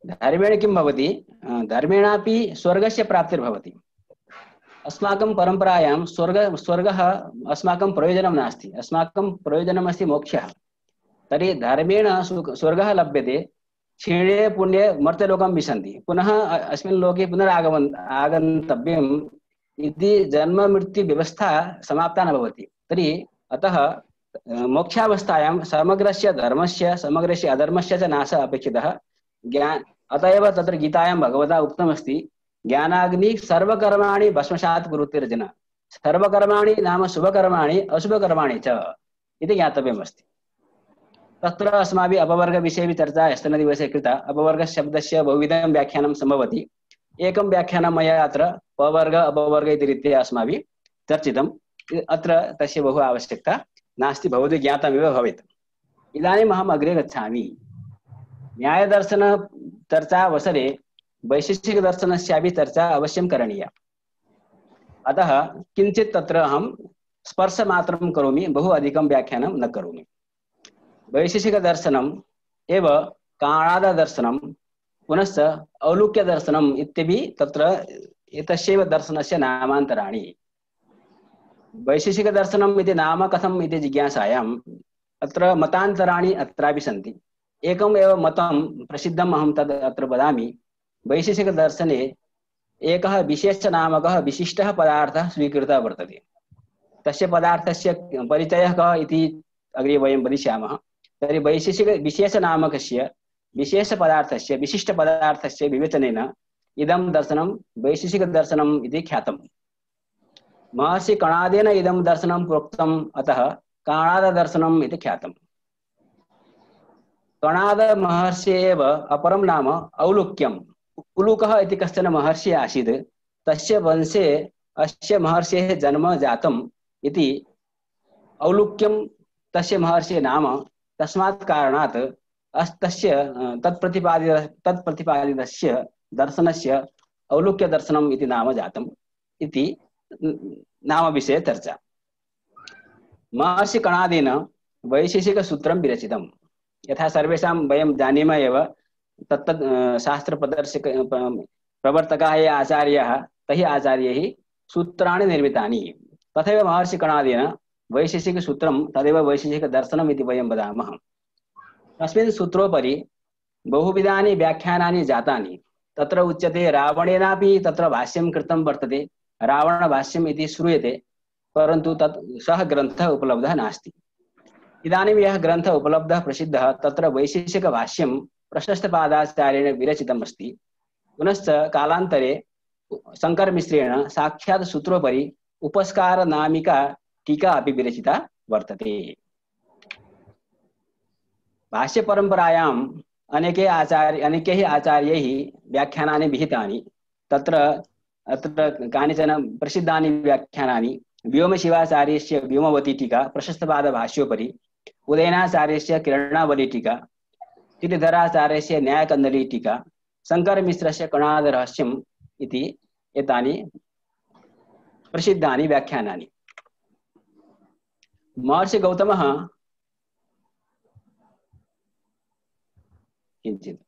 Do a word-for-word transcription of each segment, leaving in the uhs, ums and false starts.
धर्मेण किं भवति? धर्मेणापि स्वर्गस्य प्राप्तिर्भवति। अस्माकं परम्परायां स्वर्ग स्वर्गः अस्माकं प्रयोजनं नास्ति, अस्माकं प्रयोजनमस्ति मोक्षः। तर्हि धर्मेण स्वर्गः लभ्यते, क्षीणे पुण्ये मर्त्यलोकं विशन्ति, पुनः अस्मिन् लोके पुनरागमन आगन्तव्यम् इति जन्म मृत्यु व्यवस्था समाप्ता न भवति। तर्हि अतः मोक्षावस्थायां समग्रस्य धर्मस्य समग्रस्य अधर्मस्य च नाशः अपेक्षितः। ज्ञान अतः एव तत्र गीतायां भगवता उक्तमस्ति, ज्ञानाग्नि सर्वकर्माणि भस्मसात् कुरुतेर्जुन। सर्वकर्माणि नाम शुभकर्माणि अशुभकर्माणि च इति ज्ञातव्यमस्ति। तत्र अस्माभिः अपवर्गविषये भी चर्चा ह्यस्तनदिवसे कृता। अपवर्गशब्दस्य बहुविधं व्याख्यानं सम्भवति। एकं व्याख्यानं मया अत्र पवर्ग अपवर्ग इति रीत्या अस्माभिः चर्चितम्। अत्र तस्य बहु आवश्यकता नास्ति, भवद्भिः ज्ञातमेव भवेत्। इदानीम् अहम् अग्रे गच्छामि। न्यायदर्शन चर्चावसरे वैशेषिकदर्शनस्यापि चर्चा अवश्यं करणीया। अतः किञ्चित् तत्र अहं स्पर्शमात्रं करोमि, बहु अधिकं व्याख्यानं न करोमि। वैशेषिकदर्शनम् एव काणाददर्शनं पुनश्च औलूक्यदर्शनम् इत्यपि तत्र एतस्यैव दर्शनस्य नामान्तराणि। वैशेषिकदर्शनम् इति नाम कथम् इति जिज्ञासायां अत्र मतान्तराणि अत्रापि सन्ति। एकम् एव मतं प्रसिद्धम् अहं तद् अत्र वदामि। वैशेषिकदर्शने एकः विशेषनामकः विशिष्टः पदार्थः स्वीकृतः वर्तते। तस्य पदार्थस्य परिचयः कः इति अग्रे वयं वदिष्यामः। तर्हि वैशेषिक विशेषनामकस्य विशेषपदार्थस्य विशिष्टपदार्थस्य विवेचनेन इदं दर्शनं वैशेषिकदर्शनम् इति ख्यातम्। महर्षि कणादेन इदं दर्शनं प्रोक्तम्, अतः काणाददर्शनम् इति ख्यातम्। कणाद महर्षि एव अपरं नाम औलूक्यम्। उलूकः इति कश्चन महर्षिः आसीत्, तस्य वंशे अस्य महर्षेः जन्म जातम् इति औलूक्यं तस्य महर्षेः नाम। तस्मात् कारणात् अस्तस्य तत्प्रतिपादित तत्प्रतिपादितस्य दर्शनस्य औलूक्यदर्शनम् इति नाम जातम् इति नामविषये चर्चा। महर्षि कणादेन वैशेषिकसूत्रं विरचितं। यथा सर्वेषां वयं जानीमः एव, तत्तत् शास्त्रप्रदर्शक प्रवर्तकाः ये आचार्याः, तैः आचार्यैः सूत्राणि निर्मितानि। तथैव महर्षि कणादेन वैशेषिकसूत्रं तदेव वैशेषिकदर्शनम् इति वयं वदामः। तस्मिन् सूत्रोपरि बहुविधानि व्याख्यानानि जातानि। तत्र उच्यते रावणेनापि तत्र भाष्यं कृतं वर्तते, रावणभाष्यम् इति श्रूयते, परन्तु तत् सः ग्रन्थः उपलब्धः नास्ति। इदानीं यः ग्रन्थः उपलब्धः प्रसिद्धः, तत्र वैशेषिकभाष्यं प्रशस्तपादाचार्येण विरचितम् अस्ति। पुनश्च कालान्तरे शङ्करमिश्रेण साक्षात् सूत्रोपरि उपस्कारनामिका टीका अपि विरचिता वर्तते। भाष्यपरम्परायाम् अनेके आचार्य अनेकैः आचार्यैः व्याख्यानानि विहितानि। तत्र अत्र कानिचन प्रसिद्धानि व्याख्यानानि: व्योमशिवाचार्यस्य व्योमवती टीका प्रशस्तपादभाष्योपरि, उदयनाचार्यस्य किरणावली टीका, श्रीधराचार्यस्य न्यायकन्दली टीका, शङ्करमिश्रस्य कणादरहस्यम् इति एतानि प्रसिद्धानि व्याख्यानानि। महर्षि गौतमः किञ्चित्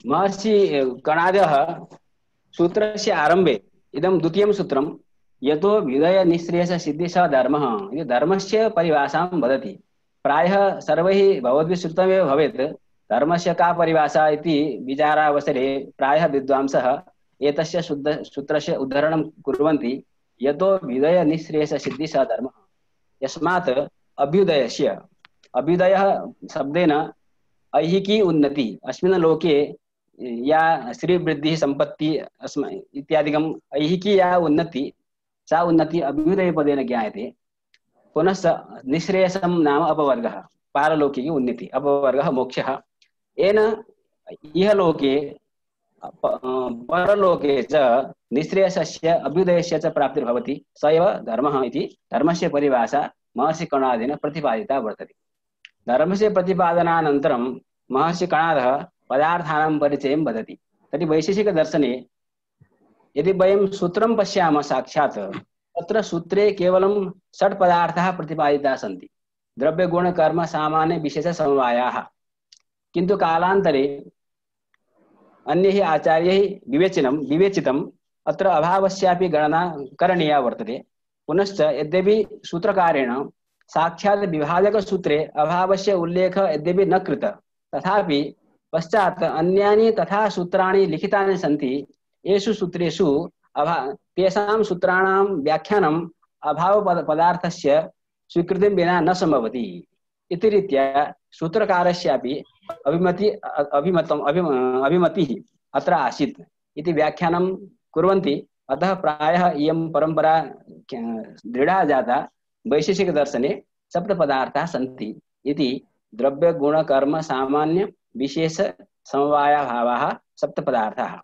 महर्षि कणादः सूत्रस्य आरम्भे इदं द्वितीयं सूत्रं यतो विदय निःश्रेयस सिद्धि स धर्मः इति धर्मस्य परिभाषां वदति। प्रायः सर्वैः भवद्भिः श्रुतमेव भवेत्, धर्मस्य का परिभाषा इति विचारावसरे प्रायः विद्वांसः एतस्य शुद्ध सूत्रस्य उद्धरणं कुर्वन्ति। यतो विदय निःश्रेयस सिद्धि स धर्मः। यस्मात् अभ्युदयस्य, अभ्युदयः शब्देन ऐहिकी उन्नति, अस्मिन् लोके या श्रीवृद्धिः सम्पत्ति अस्म इत्यादिकम् ऐहिकी या उन्नति, सा उन्नति अभ्युदयपदेन ज्ञायते। पुनश्च निःश्रेयसं नाम अपवर्गः, पारलौकिकी उन्नति, अपवर्गः मोक्षः। येन इह लोके परलोके च निःश्रेयसस्य अभ्युदयस्य च प्राप्तिर्भवति, स एव धर्मः इति धर्मस्य परिभाषा महर्षि कणादेन प्रतिपादिता वर्तते। धर्मस्य प्रतिपादनानन्तरं महर्षि कणादः पदार्थानां परिचयं वदति। तर्हि वैशेषिकदर्शने यदि वयं सूत्रं पश्यामः साक्षात्, अत्र सूत्रे केवलं षट् पदार्थाः प्रतिपादिताः सन्ति, द्रव्य गुण कर्म सामान्य विशेष समवायाः। किन्तु कालान्तरे अन्यैः आचार्यैः विवेचनं विवेचितम् अत्र अभावस्यापि गणना करणीया वर्तते। पुनश्च यद्यपि सूत्रकारेण साक्षात् विभाजक सूत्रे अभावस्य उल्लेख यद्यपि न कृत, तथापि पश्चात् अन्यानि तथा सूत्राणि लिखितानि सन्ति। येषु सूत्रेषु अभा तेषां सूत्राणां व्याख्यानम् अभाव पदार्थस्य स्वीकृतिं विना न सम्भवति इति रीत्या सूत्रकारस्यापि अभिमति अभिमतम् अभिम अभिमतिः अत्र आसीत् इति व्याख्यानं कुर्वन्ति। अतः प्रायः इयं परंपरा दृढ़ा जाता। वैशेषिक दर्शने सप्तपदार्थाः सन्ति इति द्रव्य गुण कर्म सामान्य विशेष समवायाभावाः सप्तपदार्थाः।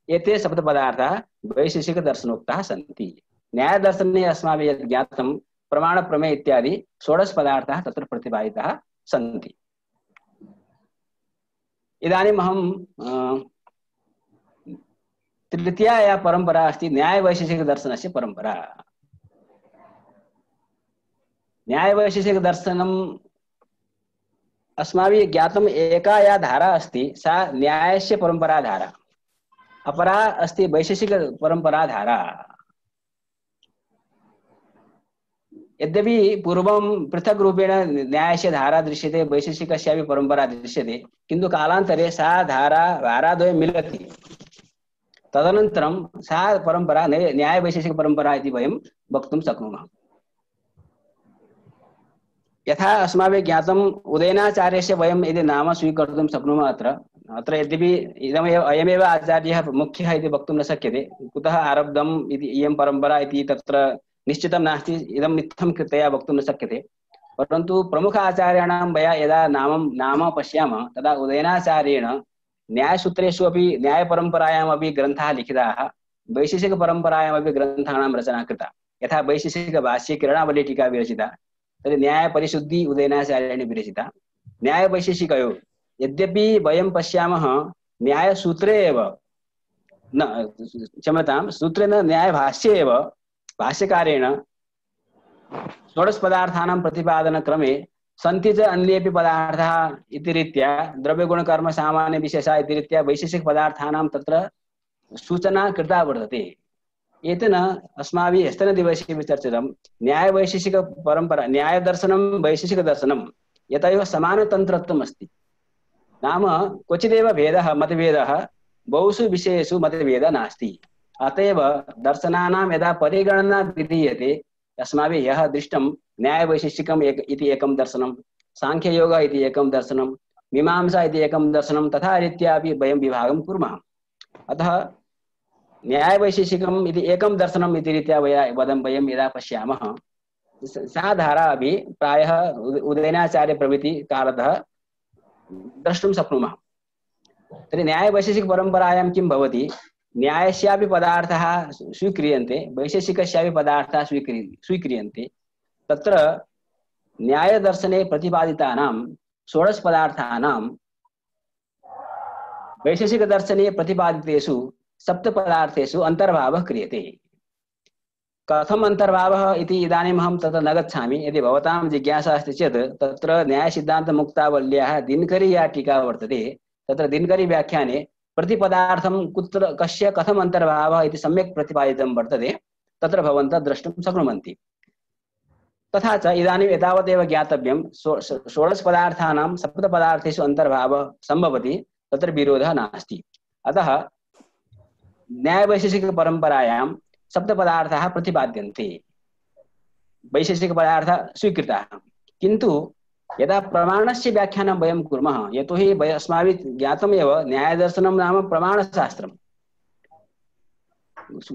एते सप्तपदार्थाः वैशेषिक दर्शनोक्ताः सन्ति। न्याय दर्शने अस्माभिः यत् ज्ञातं प्रमाण प्रमेय इत्यादि षोडश पदार्थाः तत्र प्रतिपादिताः सन्ति। इदानीम् अहं तृतीया या परंपरा अस्ति न्याय वैशेषिक दर्शनस्य परंपरा। न्याय वैशेषिक दर्शनम् अस्माभिः ज्ञातम् एका या धारा अस्ति सा न्यायस्य परंपरा धारा, अपरा अस्ति वैशेषिक परंपरा धारा। यद्यपि पूर्वं पृथक रूपेण न्यायस्य धारा दृश्यते, वैशेषिकस्यापि परंपरा दृश्यते, किन्तु कालान्तरे सा धारा धाराद्वयं मिलति। तदनन्तरं सा परंपरा न्याय वैशेषिक परंपरा इति वयं वक्तुं शक्नुमः। यथा अस्माभिः ज्ञातम् उदयनाचार्यस्य वयं यदि नाम स्वीकर्तुं शक्नुमः। अत्र अत्र यद्यपि इदमेव अयमेव आचार्यः मुख्यः इति वक्तुं न शक्यते, कुतः आरब्धम् इति इयं परंपरा इति तत्र निश्चितं नास्ति, इदम् इत्थं वक्तुं न शक्यते। परन्तु प्रमुख आचार्याणां वयं यदा नाम नाम पश्यामः तदा उदयनाचार्येण न्यायसूत्रेषु अपि न्यायपरम्परायामपि ग्रन्थाः लिखिताः, वैशेषिकपरम्परायामपि ग्रन्थानां रचना कृता। यथा वैशेषिकभाष्ये किरणावली टीका विरचिता, तर्हि न्यायपरिशुद्धि उदयनाचार्येण विरचिता। न्यायवैशेषिकयोः यद्यपि वयं पश्यामः न्यायसूत्रे एव न क्षम्यतां सूत्रे न न्यायभाष्ये एव भाष्यकारेण षोडश पदार्थानां प्रतिपादनक्रमे सन्ति च अन्येपि पदार्थाः इति रीत्या द्रव्यगुणकर्म सामान्य विशेषा इति रीत्या वैशेषिक पदार्थानां तत्र सूचना कृता वर्तते। एतेन अस्माभिः ह्यस्तनदिवसे विचर्चितं न्यायवैशेषिक परंपरा न्यायदर्शनं वैशेषिकदर्शनं यतयोः समानतन्त्रत्वम् अस्ति। नाम क्वचिदेव भेदः मतभेदः, बहुषु विषयेषु मतभेदः नास्ति। अतएव दर्शनानां यदा परिगणना विधीयते अस्माभिः यः दृष्टं न्यायवैशेषिकम् एक इति एकं दर्शनं, सांख्ययोग इति एकं दर्शनं, मीमांसा इति एकं दर्शनं, तथा रीत्या अपि वयं विभागं कुर्मः। अतः न्यायवैशेषिकम् इति एकं दर्शनम् इति रीत्या वयं वदं वयं यदा पश्यामः सा धारा अपि प्रायः उदयनाचार्य प्रभृति कालतः द्रष्टुं शक्नुमः। तर्हि न्यायवैशेषिकपरम्परायां किं भवति, न्यायस्यापि पदार्थाः स्वीक्रियन्ते, वैशेषिकस्यापि पदार्थाः स्वीक्रि स्वीक्रियन्ते। तत्र न्यायदर्शने प्रतिपादितानां षोडश पदार्थानां वैशेषिकदर्शने प्रतिपादितेषु सप्तपदार्थेषु अन्तर्भावः क्रियते। कथम् अन्तर्भावः इति इदानीम् अहं तत्र न गच्छामि। यदि भवतां जिज्ञासा अस्ति चेत् तत्र न्यायसिद्धान्तमुक्तावल्याः दिनकरी या टीका वर्तते, तत्र दिनकरी व्याख्याने प्रतिपदार्थं कुत्र कस्य कथम् अन्तर्भावः इति सम्यक् प्रतिपादितं वर्तते, तत्र भवन्तः द्रष्टुं शक्नुवन्ति। तथा च इदानीम् एतावदेव ज्ञातव्यं षोडश पदार्थानां सप्तपदार्थेषु अन्तर्भावः सम्भवति, तत्र विरोधः नास्ति। अतः न्यायवैशेषिकपरम्परायां सप्तपदार्थाः प्रतिपाद्यन्ते, वैशेषिकपदार्थाः स्वीकृताः। किन्तु यदा प्रमाणस्य व्याख्यानं वयं कुर्मः, यतोहि अस्माभिः ज्ञातमेव न्यायदर्शनं नाम प्रमाणशास्त्रं।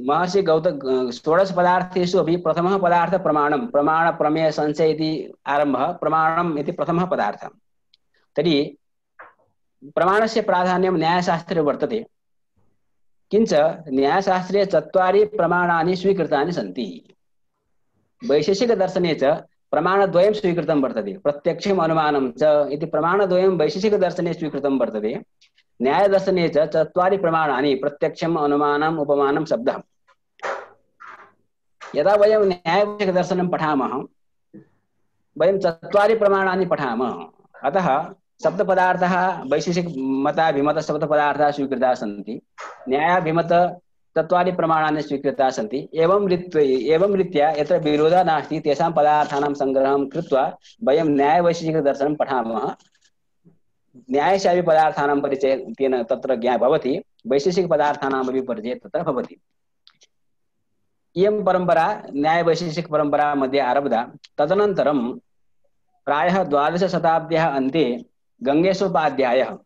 महर्षि गौतम षोडश पदार्थेषु अपि प्रथमः पदार्थः प्रमाणं, प्रमाण प्रमेय संशय इति आरम्भः, प्रमाणम् इति प्रथमः पदार्थः। तर्हि प्रमाणस्य प्राधान्यं न्यायशास्त्रे वर्तते, किंच न्यायशास्त्रे चत्वारि प्रमाणानि स्वीकृतानि सन्ति। वैशेषिक दर्शने च प्रमाणद्वयं स्वीकृतं वर्तते, प्रत्यक्षम् अनुमानं च इति प्रमाणद्वयं वैशेषिक दर्शने स्वीकृतं वर्तते। न्यायदर्शने च चत्वारि प्रमाणानि, प्रत्यक्षम् अनुमानम् उपमानं शब्दः। यदा वयं न्यायवैशेषिकदर्शनं पठामः वयं चत्वारि प्रमाणानि पठामः। अतः सप्तपदार्थाः वैशेषिकमताभिमतसप्तपदार्थाः स्वीकृताः सन्ति, न्यायाभिमत चत्वारि प्रमाणानि स्वीकृताः सन्ति। एवं रीत्या एवं रीत्या यत्र विरोधः नास्ति तेषां पदार्थानां सङ्ग्रहं कृत्वा वयं न्यायवैशेषिकदर्शनं पठामः। न्यायशापि पदार्थानां परिचयः तेन तत्र ज्ञाः भवति, वैशेषिकपदार्थानामपि परिचयः तत्र भवति। इयं परम्परा न्यायवैशेषिकपरम्परा मध्ये आरब्धा। तदनन्तरं प्रायः द्वादशशताब्द्याः अन्ते गङ्गेशोपाध्यायः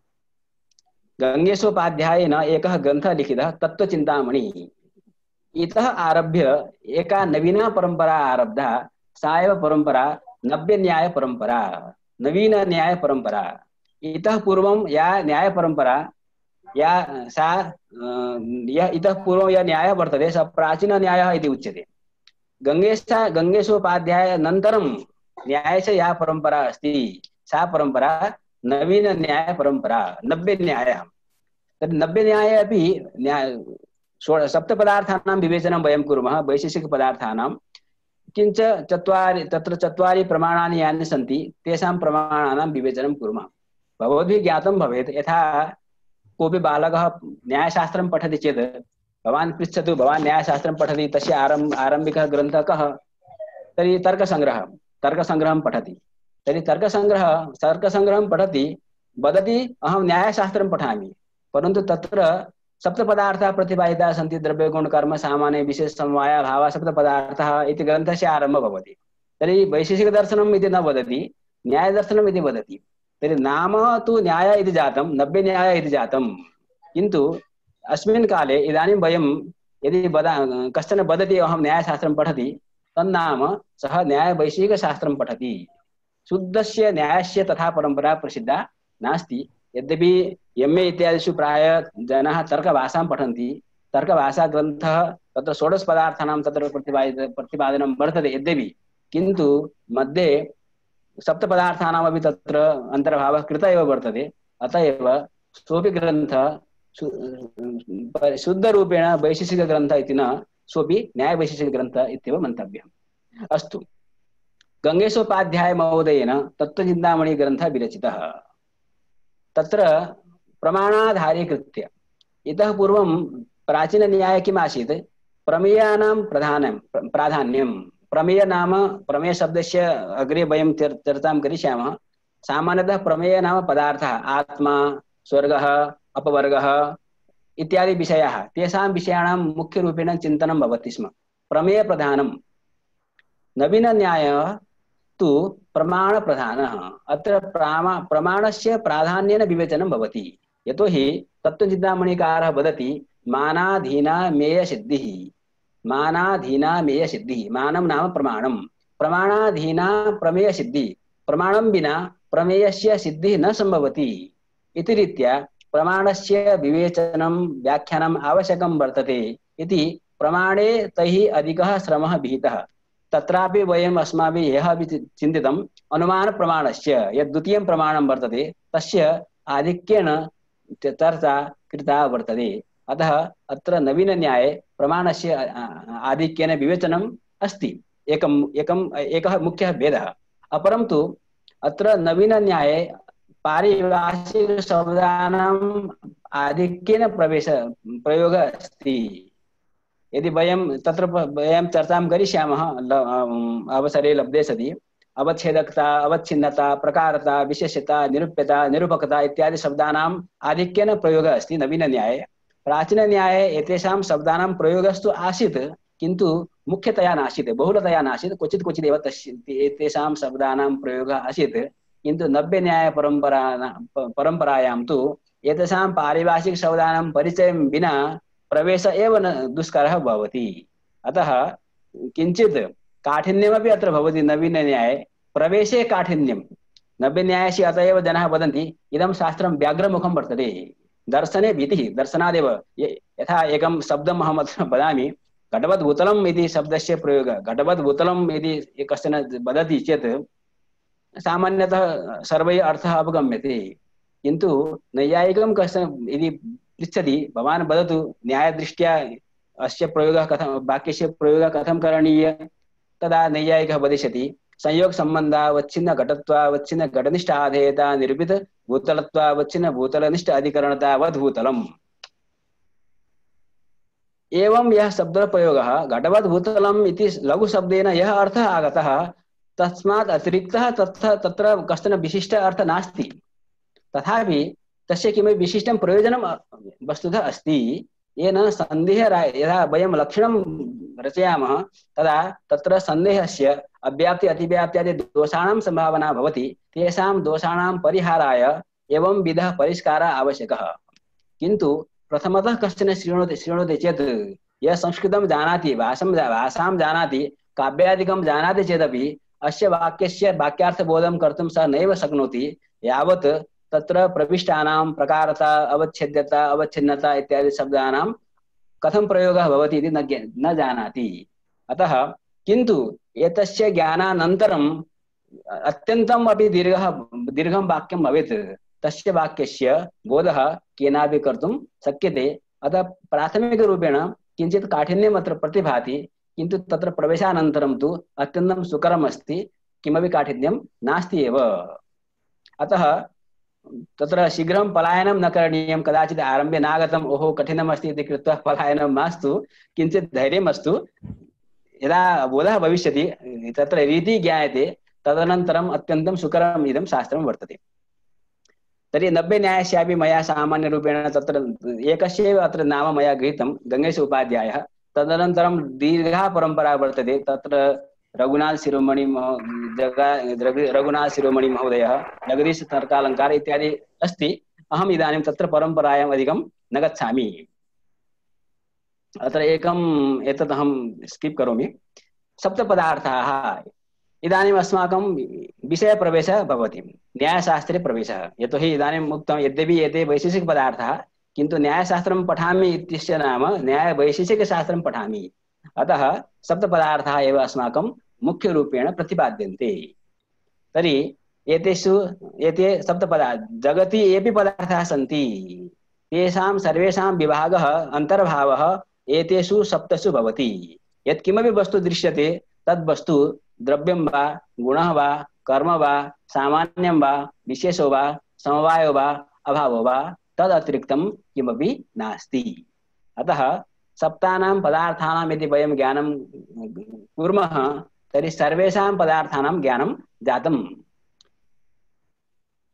गङ्गेशोपाध्यायेन एकः ग्रन्थः लिखितः तत्त्वचिन्तामणिः। इतः आरभ्य एका नवीना परम्परा आरब्धा, सा एव परम्परा नव्यन्यायपरम्परा, नवीनन्यायपरम्परा। इतः पूर्वं या न्यायपरम्परा या सा यः इतः पूर्वं यः न्यायः वर्तते सः प्राचीनन्यायः इति उच्यते। गङ्गेश गङ्गेशोपाध्यायानन्तरं न्यायस्य या परम्परा अस्ति सा परम्परा नवीनन्यायपरम्परा, नव्यन्यायः। तद् नव्यन्याये अपि न्याय सप्तपदार्थानां विवेचनं वयं कुर्मः, वैशेषिकपदार्थानां। किञ्च चत्वारि तत्र चत्वारि प्रमाणानि यानि सन्ति तेषां प्रमाणानां विवेचनं कुर्मः। भवद्भिः ज्ञातं भवेत्, यथा कोऽपि बालकः न्यायशास्त्रं पठति चेत् भवान् पृच्छतु, भवान् न्यायशास्त्रं पठति, तस्य आरम्भ आरम्भिकः ग्रन्थः कः? तर्हि तर्कसङ्ग्रहः तर्कसङ्ग्रहं पठति। तर्हि तर्कसङ्ग्रह तर्कसङ्ग्रहं पठति, वदति अहं न्यायशास्त्रं पठामि, परन्तु तत्र सप्तपदार्थाः प्रतिपादिताः सन्ति, द्रव्यगुणकर्म सामान्य विशेष समवाय भावः सप्तपदार्थः इति ग्रन्थस्य आरम्भः भवति। तर्हि वैशेषिकदर्शनम् इति न वदति, न्यायदर्शनम् इति वदति। तर्हि नाम तु न्याय इति जातं, नव्यन्याय इति जातं। किन्तु अस्मिन् काले इदानीं वयं यदि वदा कश्चन वदति अहं न्यायशास्त्रं पठति, तन्नाम सः न्यायवैशेषिकशास्त्रं पठति। शुद्धस्य न्यायस्य तथा परम्परा प्रसिद्धा नास्ति। यद्यपि एम् ए इत्यादिषु प्रायः जनाः तर्कभाषां पठन्ति, तर्कभाषाग्रन्थः तत्र षोडशपदार्थानां तत्र प्रतिपादित प्रतिपादनं वर्तते यद्यपि, किन्तु मध्ये सप्तपदार्थानामपि तत्र अन्तर्भावः कृतः एव वर्तते। अतः एव सोऽपि ग्रन्थः शुद्धरूपेण वैशेषिकग्रन्थः इति न, सोऽपि न्यायवैशेषिकग्रन्थः इत्येव मन्तव्यः। अस्तु, गङ्गेशोपाध्याय महोदयेन तत्त्वचिन्तामणिग्रन्थः विरचितः। तत्र प्रमाणाधारीकृत्य, इतः पूर्वं प्राचीनन्याये किम् आसीत्? प्रमेयानां प्रधानं प्राधान्यं। प्रमेय नाम, प्रमेयशब्दस्य अग्रे वयं चर्चां करिष्यामः। सामान्यतः प्रमेय नाम पदार्थः, आत्मा, स्वर्गः, अपवर्गः इत्यादि विषयाः, तेषां विषयाणां मुख्यरूपेण चिन्तनं भवति स्म, प्रमेयप्रधानं। नवीनन्यायः तु प्रमाणप्रधानः। अत्र प्रामा प्रमाणस्य प्राधान्येन विवेचनं भवति। यतोहि तत्त्वचिन्तामणिकारः वदति मानाधीनामेयसिद्धिः, मानाधीनामेयसिद्धिः, मानं नाम प्रमाणं, प्रमाणाधीना प्रमेयसिद्धिः, प्रमाणं विना प्रमेयस्य सिद्धिः न सम्भवति इति रीत्या प्रमाणस्य विवेचनं व्याख्यानम् आवश्यकं वर्तते इति प्रमाणे तैः अधिकः श्रमः विहितः। तत्रापि वयम् अस्माभिः यः अपि चिन्तितम् अनुमानप्रमाणस्य यद् द्वितीयं प्रमाणं वर्तते तस्य आधिक्येन चर्चा कृता वर्तते। अतः अत्र नवीनन्याये प्रमाणस्य आधिक्येन विवेचनम् अस्ति, एकम् एकम् एकः मुख्यः भेदः। अपरं तु अत्र नवीनन्याये पारिभाषिकशब्दानाम् आधिक्येन प्रवेश प्रयोगः अस्ति। यदि वयं तत्र वयं चर्चां करिष्यामः अवसरे लब्धे सति, अवच्छेदकता, अवच्छिन्नता, प्रकारता, विशेष्यता, निरूप्यता, निरूपकता इत्यादि शब्दानाम् आधिक्येन प्रयोगः अस्ति नवीनन्याये। प्राचीनन्याये एतेषां शब्दानां प्रयोगस्तु आसीत्, किन्तु मुख्यतया नासीत्, बहुलतया नासीत्, क्वचित् क्वचित् एव तस्य एतेषां शब्दानां प्रयोगः आसीत्। किन्तु नव्यन्यायपरम्परा परम्परायां तु एतेषां पारिभाषिकशब्दानां परिचयं विना प्रवेश एव न दुष्करः भवति। अतः किञ्चित् काठिन्यमपि अत्र भवति नवीनन्याये, प्रवेशे काठिन्यं। नव्यन्यायस्य अत एव जनाः वदन्ति इदं शास्त्रं व्याघ्रमुखं वर्तते, दर्शने भीतिः, दर्शनादेव। यथा एकं शब्दम् अहम् अत्र वदामि, घटवद्भूतलम् इति शब्दस्य प्रयोगः, घटवद्भूतलम् इति कश्चन वदति चेत् सामान्यतः सर्वैः अर्थः अवगम्यते, किन्तु नैयायिकं कश्चन यदि पृच्छति, भवान् वदतु न्यायदृष्ट्या अस्य प्रयोगः कथं वाक्यस्य प्रयोगः कथं करणीय तदा नैयायिकः वदिष्यति संयोग संबंधावच्छिन्न घटत्वावच्छिन्न घटनिष्ठ आधेयता निरूपित भूतलत्वावच्छिन्न भूतलनिष्ठ अधिकरणतावद् भूतलम्। एवं यह शब्द प्रयोगः घटवद् भूतलम् इति लघु शब्देन यह अर्थः आगतः तस्मात् अतिरिक्तः तत्र तत्र कश्चन विशिष्ट अर्थः नास्ति। तथापि तस्य किमपि विशिष्टं प्रयोजनं वस्तुतः अस्ति येन सन्देहः यदा वयं लक्षणं रचयामः तदा तत्र सन्देहस्य अव्याप्ति अतिव्याप्त्यादि दोषाणां संभावना भवति। तेषां दोषाणां परिहाराय एवं विधः परिष्कारः आवश्यकः। किन्तु प्रथमतः कश्चन शृणोति शृणोति चेत् यः संस्कृतं जानाति भाषां भाषां जानाति काव्यादिकं जानाति चेदपि अस्य वाक्यस्य वाक्यार्थबोधं कर्तुं सः नैव शक्नोति यावत् तत्र प्रविष्टानां प्रकारता अवच्छेद्यता अवच्छिन्नता इत्यादि शब्दानां कथं प्रयोगः भवति इति न न जानाति। अतः किन्तु एतस्य ज्ञानानन्तरम् अत्यन्तम् अपि दीर्घः दीर्घं वाक्यं भवेत् तस्य वाक्यस्य बोधः केनापि कर्तुं शक्यते। अतः प्राथमिकरूपेण किञ्चित् काठिन्यम् अत्र प्रतिभाति किन्तु तत्र प्रवेशानन्तरं तु अत्यन्तं सुकरम् अस्ति, किमपि काठिन्यं नास्ति एव। अतः तत्र शीघ्रं पलायनं न करणीयं। कदाचित् आरम्भे नागतम् ओहो कठिनम् अस्ति इति कृत्वा पलायनं मास्तु, किञ्चित् धैर्यम् अस्तु। यदा बोधः भविष्यति तत्र रीतिः ज्ञायते तदनन्तरम् अत्यन्तं सुकरम् इदं शास्त्रं वर्तते। तर्हि नब्बे न्यायस्यापि मया सामान्यरूपेण तत्र एकस्यैव अत्र नाम मया गृहीतं गङ्गेश उपाध्यायः। तदनन्तरं दीर्घा परम्परा वर्तते तत्र रघुनाथ शिरोमणि रघुनाथ शिरोमणि महोदयः जगदीश तर्कालङ्कार इत्यादि अस्ति। अहम् इदानीं तत्र परम्परायाम् अधिकं न गच्छामि। अत्र एकम् एतत् अहं स्किप् करोमि। सप्तपदार्थाः इदानीम् अस्माकं विषयप्रवेशः भवति, न्यायशास्त्रे प्रवेशः। यतोहि इदानीम् उक्तं यद्यपि एते वैशेषिकपदार्थाः किन्तु न्यायशास्त्रं पठामि इत्यस्य नाम न्यायवैशेषिकशास्त्रं पठामि। अतः सप्तपदार्थाः एव अस्माकं मुख्यरूपेण प्रतिपाद्यन्ते। तर्हि एतेषु एते सप्तपदार्थ जगति येऽपि पदार्थाः सन्ति तेषां सर्वेषां विभागः अन्तर्भावः एतेषु सप्तसु भवति। यत्किमपि वस्तु दृश्यते तद् वस्तु द्रव्यं वा गुणः वा कर्म वा सामान्यं वा विशेषो वा समवायो वा अभावो वा तदतिरिक्तं किमपि नास्ति। अतः सप्तानां पदार्थानां यदि वयं ज्ञानं कुर्मः तर्हि सर्वेषां पदार्थानां ज्ञानं जातम्।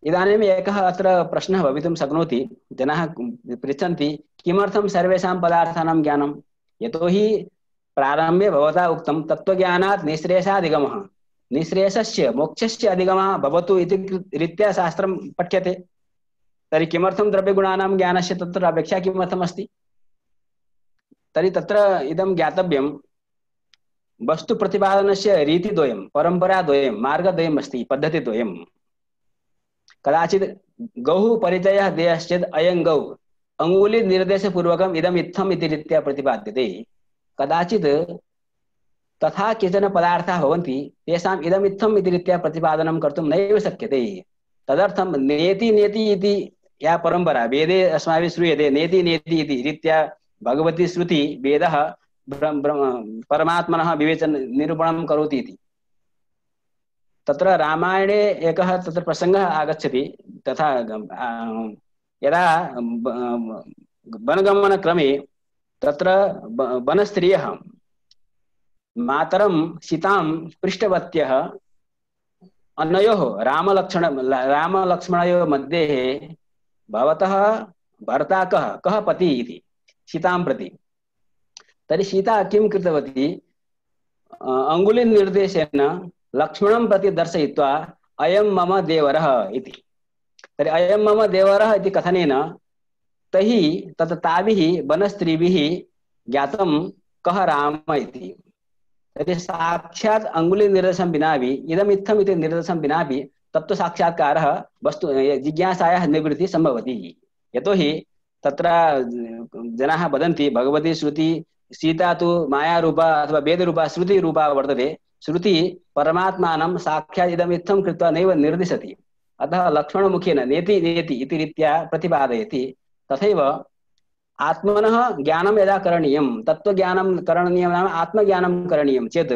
इदानीम् एकः अत्र प्रश्नः भवितुं शक्नोति। जनाः पृच्छन्ति किमर्थं सर्वेषां पदार्थानां ज्ञानं? यतोहि प्रारम्भे भवता उक्तं तत्त्वज्ञानात् निःश्रेयसाधिगमः, निःश्रेयसस्य मोक्षस्य अधिगमः भवतु इति रीत्या शास्त्रं पठ्यते। तर्हि किमर्थं द्रव्यगुणानां ज्ञानस्य तत्र अपेक्षा किमर्थमस्ति? तर्हि तत्र इदं ज्ञातव्यं वस्तुप्रतिपादनस्य रीतिद्वयं परम्पराद्वयं मार्गद्वयम् अस्ति, पद्धतिद्वयं। कदाचित् गौः परिचयः देयश्चेत् अयं गौ अङ्गुलिनिर्देशपूर्वकम् इदम् इत्थम् इति रीत्या प्रतिपाद्यते। कदाचित् तथा केचन पदार्थाः भवन्ति तेषाम् इदम् इत्थम् इति रीत्या प्रतिपादनं कर्तुं नैव शक्यते। तदर्थं नेति नेति इति या परम्परा वेदे अस्माभिः श्रूयते नेति नेति इति रीत्या भगवती श्रुति वेदः परमात्मनः विवेचन निरूपणं करोति इति। तत्र रामायणे एकः तत्र प्रसङ्गः आगच्छति। तथा यदा वनगमनक्रमे तत्र वनस्त्रियः मातरं सीतां पृष्टवत्यः अनयोः रामलक्ष्मण रामलक्ष्मणयोः मध्ये भवतः भर्ता कः कः पति इति सीतां प्रति। तर्हि सीता किं कृतवती? अङ्गुलिनिर्देशेन लक्ष्मणं प्रति दर्शयित्वा अयं मम देवरः इति। तर्हि अयं मम देवरः इति कथनेन तैः तत् ताभिः वनस्त्रीभिः ज्ञातं कः राम इति। तर्हि साक्षात् अङ्गुलिनिर्देशं विनापि इदम् इत्थम् इति निर्देशं विनापि तत्त्वसाक्षात्कारः वस्तु जिज्ञासायाः निवृत्तिः सम्भवति। यतोहि तत्र जनाः वदन्ति भगवती श्रुति सीता तु मायारूपा अथवा वेदरूपा श्रुतिरूपा वर्तते। श्रुति परमात्मानं साक्षात् इदम् इत्थं कृत्वा नैव निर्दिशति। अतः लक्ष्मणमुखेन नेति नेति इति रीत्या प्रतिपादयति। तथैव आत्मनः ज्ञानं यदा करणीयं तत्त्वज्ञानं करणीयं नाम आत्मज्ञानं करणीयं चेत्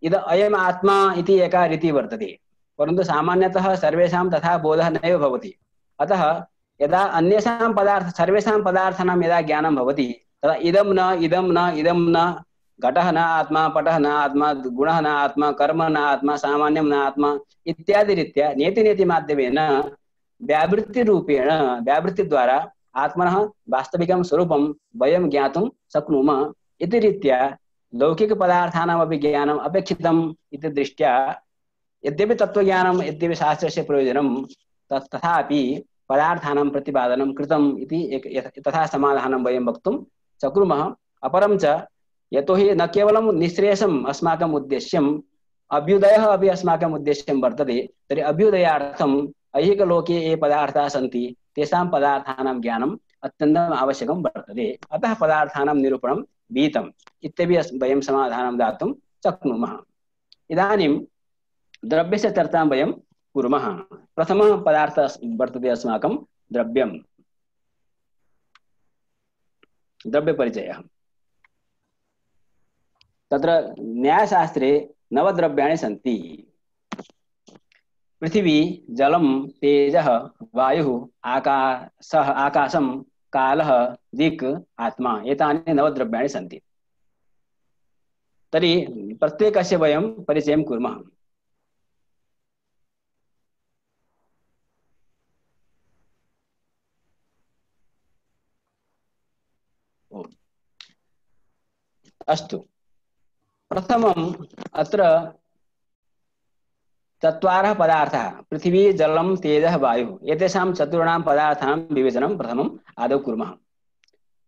इद अयम् आत्मा इति एका रीतिः वर्तते, परन्तु सामान्यतः सर्वेषां तथा बोधः नैव भवति। अतः यदा अन्येषां पदार्थ सर्वेषां पदार्थानां यदा ज्ञानं भवति तदा इदं न इदं न इदं न घटः न आत्मा, पटः न आत्मा, गुणः न आत्मा, कर्म न आत्मा, सामान्यं न आत्मा इत्यादि रीत्या नेति नेति माध्यमेन व्यावृत्तिरूपेण व्यावृत्तिद्वारा आत्मनः वास्तविकं स्वरूपं वयं ज्ञातुं शक्नुमः इति रीत्या लौकिकपदार्थानामपि ज्ञानम् अपेक्षितम् इति दृष्ट्या यद्यपि तत्त्वज्ञानं यद्यपि शास्त्रस्य प्रयोजनं तथापि पदार्थानां प्रतिपादनं कृतम् इति तथा समाधानं वयं वक्तुं शक्नुमः। अपरं च यतोहि न केवलं निःश्रेयसम् अस्माकम् उद्देश्यम् अभ्युदयः अपि अस्माकम् उद्देश्यं वर्तते, तर्हि अभ्युदयार्थम् ऐहिकलोके ये पदार्थाः सन्ति तेषां पदार्थानां ज्ञानम् अत्यन्तम् आवश्यकं वर्तते। अतः पदार्थानां निरूपणं विहितम् इत्यपि वयं समाधानं दातुं शक्नुमः। इदानीं द्रव्यस्य चर्चां वयं कुर्मः। प्रथमः पदार्थः वर्तते अस्माकं द्रव्यं, द्रव्यपरिचयः। तत्र न्यायशास्त्रे नवद्रव्याणि सन्ति। पृथिवी, जलं, तेजः, वायुः, आकाशः, आकाशं, कालः, दिक्, आत्मा, एतानि नवद्रव्याणि सन्ति। तर्हि प्रत्येकस्य वयं परिचयं कुर्मः। अस्तु, प्रथमम् अत्र चत्वारः पदार्थाः पृथिवी, जलं, तेजः, वायुः एतेषां चतुर्णां पदार्थानां विवेचनं प्रथमम् आदौ कुर्मः।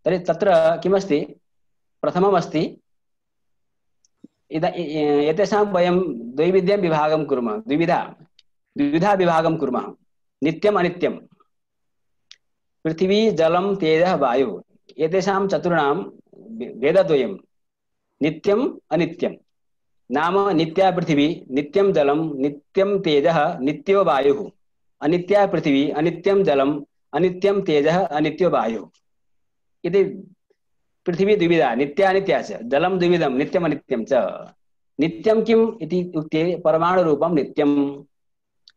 तर्हि तत्र किमस्ति, प्रथममस्ति इद एतेषां वयं द्वैविध्यं विभागं कुर्मः, द्विविधा द्विविधा विभागं कुर्मः, नित्यम् अनित्यं। पृथिवी, जलं, तेजः, वायुः एतेषां चतुर्णां भेदद्वयं नित्यम् अनित्यं। नाम नित्या पृथिवी, नित्यं जलं, नित्यं तेजः, नित्यो वायुः। अनित्या पृथिवी, अनित्यं जलं, अनित्यं तेजः, अनित्यो वायुः। इति पृथिवी द्विविधा, नित्या अनित्या च, जलं द्विविधं, नित्यम् अनित्यं च। नित्यं किम् इति उक्ते परमाणुरूपं नित्यम्,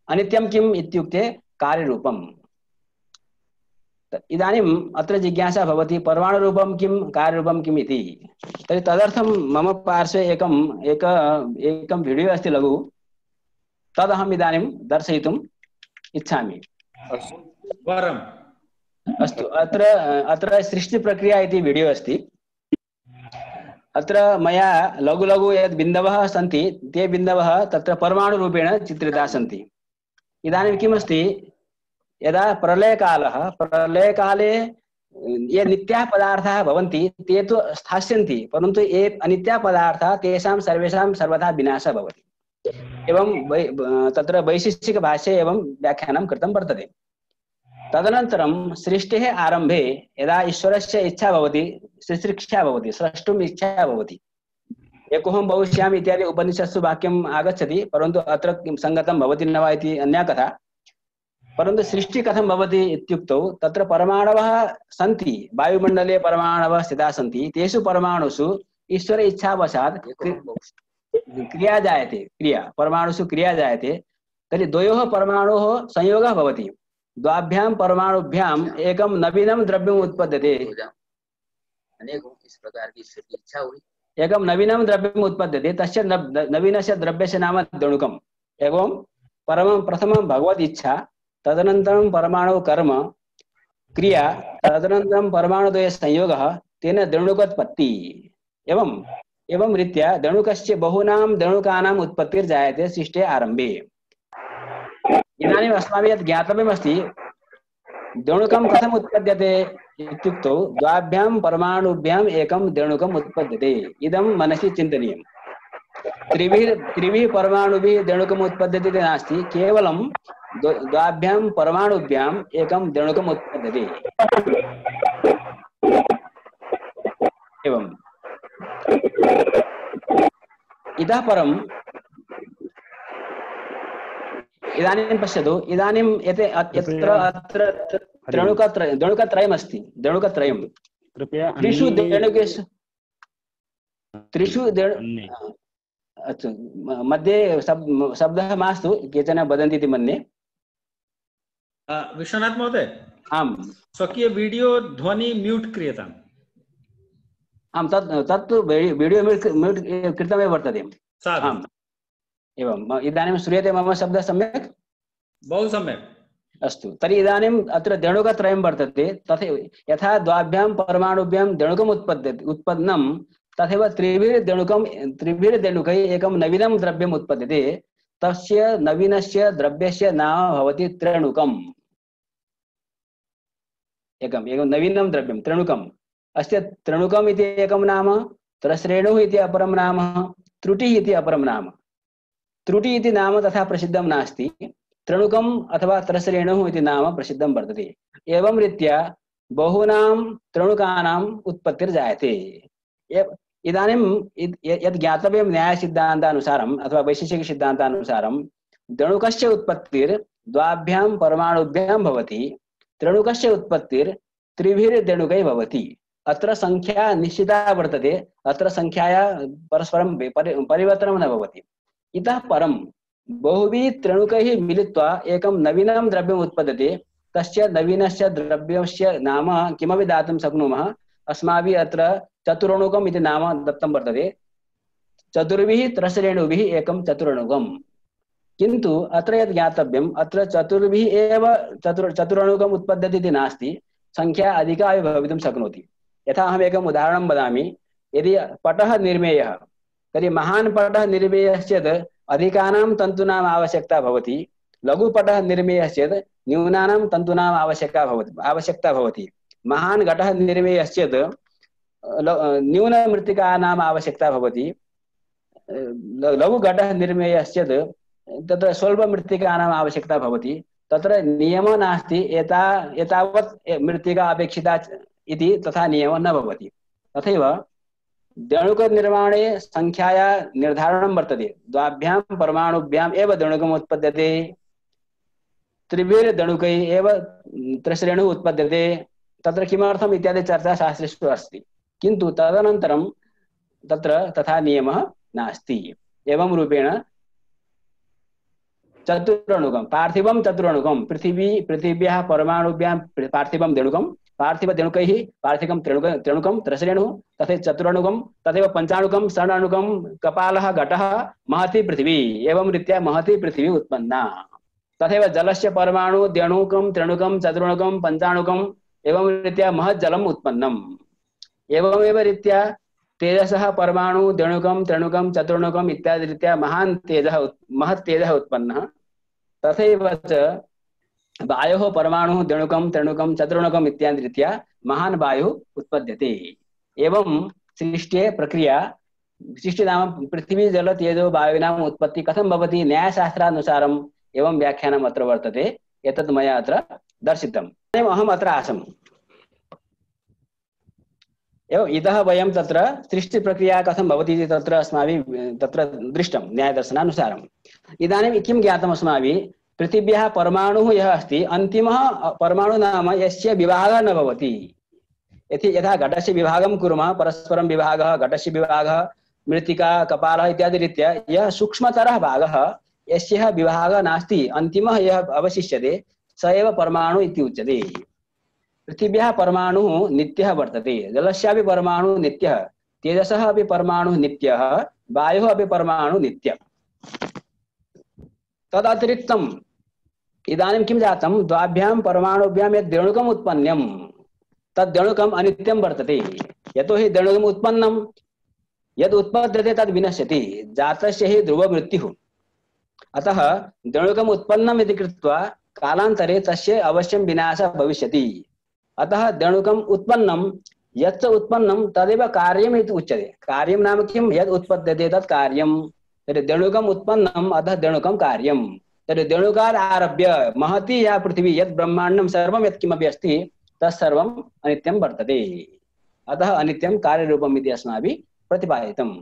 अनित्यं किम् इत्युक्ते कार्यरूपम्। इदानीम् अत्र जिज्ञासा भवति परमाणुरूपं किं कार्यरूपं किम् इति। तर्हि तदर्थं मम पार्श्वे एकम् एक एकं वीडियो अस्ति लघु, तदहम् इदानीं दर्शयितुम् इच्छामि। अस्तु, अत्र अत्र सृष्टिप्रक्रिया इति वीडियो अस्ति। अत्र मया लघु लघु यद् बिन्दवः सन्ति ते बिन्दवः तत्र परमाणुरूपेण चित्रिताः सन्ति। इदानीं किमस्ति, यदा प्रलयकालः प्रलयकाले ये नित्याः पदार्थाः भवन्ति ते तु स्थास्यन्ति, परन्तु ये अनित्याः पदार्थाः तेषां सर्वेषां सर्वथा विनाशः भवति। एवं वै तत्र वैशिष्टिकभाष्ये एवं व्याख्यानं कृतं वर्तते। तदनन्तरं सृष्टेः आरम्भे यदा ईश्वरस्य इच्छा भवति, सृष्टिक्षा भवति, स्रष्टुम् इच्छा भवति, एकोऽहं भविष्यामि इत्यादि उपनिषत्सु वाक्यम् आगच्छति, परन्तु अत्र सङ्गतं भवति न वा इति अन्या कथा। परन्तु सृष्टि कथं भवति इत्युक्तौ तत्र परमाणवः सन्ति, वायुमण्डले परमाणवः स्थिताः सन्ति, तेषु परमाणुषु ईश्वर इच्छावशात् क्रिया जायते, क्रिया परमाणुषु क्रिया जायते। तर्हि द्वयोः परमाणोः संयोगः भवति, द्वाभ्यां परमाणुभ्याम् एकं नवीनं द्रव्यम् उत्पद्यते। इस प्रकार की इच्छा हुई, एकं नवीनं द्रव्यम् उत्पद्यते, तस्य नवीनस्य द्रव्यस्य नाम दणुकम्। एवं परमं प्रथमं भगवद् इच्छा, तदनन्तरं परमाणु कर्म क्रिया, तदनन्तरं परमाणुद्वय संयोगः, तेन दणुकोत्पत्ति। एवं एवं रीत्या दणुकस्य बहूनां दणुकानाम् उत्पत्तिर्जायते सृष्टे आरम्भे। इदानीम् अस्माभिः यत् ज्ञातव्यमस्ति, दणुकं कथम् उत्पद्यते इत्युक्तौ द्वाभ्यां परमाणुभ्याम् एकं दणुकम् उत्पद्यते, इदं मनसि चिन्तनीयम्। त्रिभिः त्रिभिः परमाणुभिः दणुकम् उत्पद्यते इति नास्ति, केवलं द्वाभ्यां परमाणुभ्याम् एकं दणुकम् उत्पद्यते। एवम् इतः परम् इदानीं पश्यतु, इदानीं यत् यत्र अत्र दणुकत्रय दणुकत्रयमस्ति, दणुकत्रयं कृपया त्रिषु देणुकेषु त्रिषु अच्छा मध्ये शब्दः मास्तु, केचन वदन्ति इति मन्ये। विश्वनाथ महोदय, आम्, स्वकीय वीडियो ध्वनि म्यूट् क्रियताम्। आम्, तत् तत्तु वीडियो म्यूट् म्यूट् कृतमेव वर्तते। आम्, एवम्। इदानीं श्रूयते मम शब्दः सम्यक्? बहु सम्यक्। अस्तु, तर्हि इदानीम् अत्र देणुकत्रयं वर्तते। तथैव यथा द्वाभ्यां परमाणुभ्यां देणुकम् उत्पद्यते उत्पन्नं, तथैव त्रिभिर्देणुकं त्रिभिर्देणुकैः एकं नवीनं द्रव्यम् उत्पद्यते। तस्य नवीनस्य द्रव्यस्य नाम भवति त्रेणुकम्। एकम् एकं नवीनं द्रव्यं त्रेणुकम्। अस्य त्रेणुकम् इति एकं नाम, त्रस्रेणुः इति अपरं नाम, त्रुटिः इति अपरं नाम। त्रुटि इति नाम तथा प्रसिद्धं नास्ति, त्रेणुकम् अथवा त्रस्रेणुः इति नाम प्रसिद्धं वर्तते। एवं रीत्या बहूनां त्रेणुकानाम् उत्पत्तिर्जायते। इदानीं यद् ज्ञातव्यं न्यायसिद्धान्तानुसारम् अथवा वैशेषिकसिद्धान्तानुसारं देणुकस्य उत्पत्तिर्द्वाभ्यां परमाणुभ्यां भवति, त्रेणुकस्य उत्पत्तिर्त्रिभिर्देणुकैः भवति। अत्र संख्या निश्चिता वर्तते, अत्र संख्याया परस्परं परिवर्तनं न भवति। इतः परं बहुभिः त्रेणुकैः मिलित्वा एकं नवीनं द्रव्यम् उत्पद्यते। तस्य नवीनस्य द्रव्यस्य नाम किमपि दातुं शक्नुमः। अस्माभिः अत्र चतुरणुकम् इति नाम दत्तं वर्तते। चतुर्भिः त्रस्रेणुभिः एकं चतुरणुकम्। किन्तु अत्र यद् ज्ञातव्यम्, अत्र चतुर्भिः एव चतुर् चतुरणुकम् उत्पद्यते इति नास्ति, संख्या अधिका अपि भवितुं शक्नोति। यथा अहम् एकम् उदाहरणं वदामि। यदि पटः निर्मेयः, तर्हि महान् पटः निर्मेयः चेत् अधिकानां तन्तूनाम् आवश्यकता भवति, लघुपटः निर्मेयः चेत् न्यूनानां तन्तूनाम् आवश्यकता भवति आवश्यकता भवति महान् घटः निर्मेयः चेत् न्यूनमृत्तिकानाम् आवश्यकता भवति, लघुघटः निर्मेयः चेत् तत्र स्वल्पमृत्तिकानाम् आवश्यकता भवति। तत्र नियमः नास्ति एता एतावत् मृत्तिका अपेक्षिता इति, तथा नियमः न भवति। तथैव देणुकनिर्माणे संख्याया निर्धारणं वर्तते। द्वाभ्यां परमाणुभ्याम् एव देणुकम् उत्पद्यते, त्रिभिर्देणुकैः एव त्रस्रेणुः उत्पद्यते। तत्र किमर्थम् इत्यादि चर्चा शास्त्रेषु अस्ति, किन्तु तदनन्तरं तत्र तथा नियमः नास्ति। एवं रूपेण चतुरणुकं पार्थिवं चतुरणुकं पृथिवी पृथिव्याः परमाणुभ्यां पार्थिवं देणुकं, पार्थिवदेणुकैः पार्थिवं त्रेणुक त्रेणुकं त्रस्रेणुः, तथैव चतुरणुकं, तथैव पञ्चाणुकं षडणुकं कपालः घटः महती पृथिवी। एवं रीत्या महती पृथिवी उत्पन्ना। तथैव जलस्य परमाणु देणुकं त्रेणुकं चतुरणुकं पञ्चाणुकम्, एवं रीत्या महत् जलम् उत्पन्नम्। एवमेव रीत्या तेजसः परमाणु देणुकं त्रेणुकं चतुर्णुकम् इत्यादि रीत्या महान् तेजः महत् तेजः उत्पन्नः। तथैव च वायोः परमाणुः देणुकं त्रेणुकं चतुर्णुकम् इत्यादि रीत्या महान् वायुः उत्पद्यते। एवं सृष्टे प्रक्रिया सृष्टि नाम पृथ्वी जल तेजो वायुनाम् उत्पत्ति कथं भवति न्यायशास्त्रानुसारम् एवं व्याख्यानम् अत्र वर्तते। एतत् मया अत्र दर्शितम्। अहम् अत्र आसम्। एवं इतः वयं तत्र सृष्टिप्रक्रिया कथं भवति इति तत्र अस्माभिः तत्र दृष्टं न्यायदर्शनानुसारम्। इदानीं किं ज्ञातम् अस्माभिः, पृथिव्याः परमाणुः यः अस्ति अन्तिमः परमाणु नाम यस्य विभागः न भवति। यदि यथा घटस्य विभागं कुर्मः, परस्परं विभागः, घटस्य विभागः, मृत्तिका कपालः इत्यादि रीत्या यः सूक्ष्मतरः भागः यस्य विभागः नास्ति, अन्तिमः यः अवशिष्यते स एव परमाणु इति उच्यते। पृथिव्याः परमाणुः नित्यः वर्तते, जलस्यापि परमाणुः नित्यः, तेजसः अपि परमाणुः नित्यः, वायुः अपि परमाणुः नित्यः। तदतिरिक्तम् इदानीं किं जातं, द्वाभ्यां परमाणुभ्यां यद् देणुकम् उत्पन्नं तद् देणुकम् अनित्यं वर्तते। यतोहि देणुकम् उत्पन्नं यद् उत्पद्यते तद् विनश्यति, जातस्य हि ध्रुवमृत्युः। अतः देणुकम् उत्पन्नम् इति कृत्वा कालान्तरे तस्य अवश्यं विनाशः भविष्यति। अतः देणुकम् उत्पन्नं यच्च उत्पन्नं तदेव कार्यम् इति उच्यते। कार्यं नाम किं, यद् उत्पद्यते तत् कार्यं। तर्हि देणुकम् उत्पन्नम् अतः देणुकं कार्यं। तर्हि देणुकात् आरभ्य महती या पृथिवी यद् ब्रह्माण्डं सर्वं यत्किमपि अस्ति तत्सर्वम् अनित्यं वर्तते। अतः अनित्यं कार्यरूपम् इति अस्माभिः प्रतिपादितम्।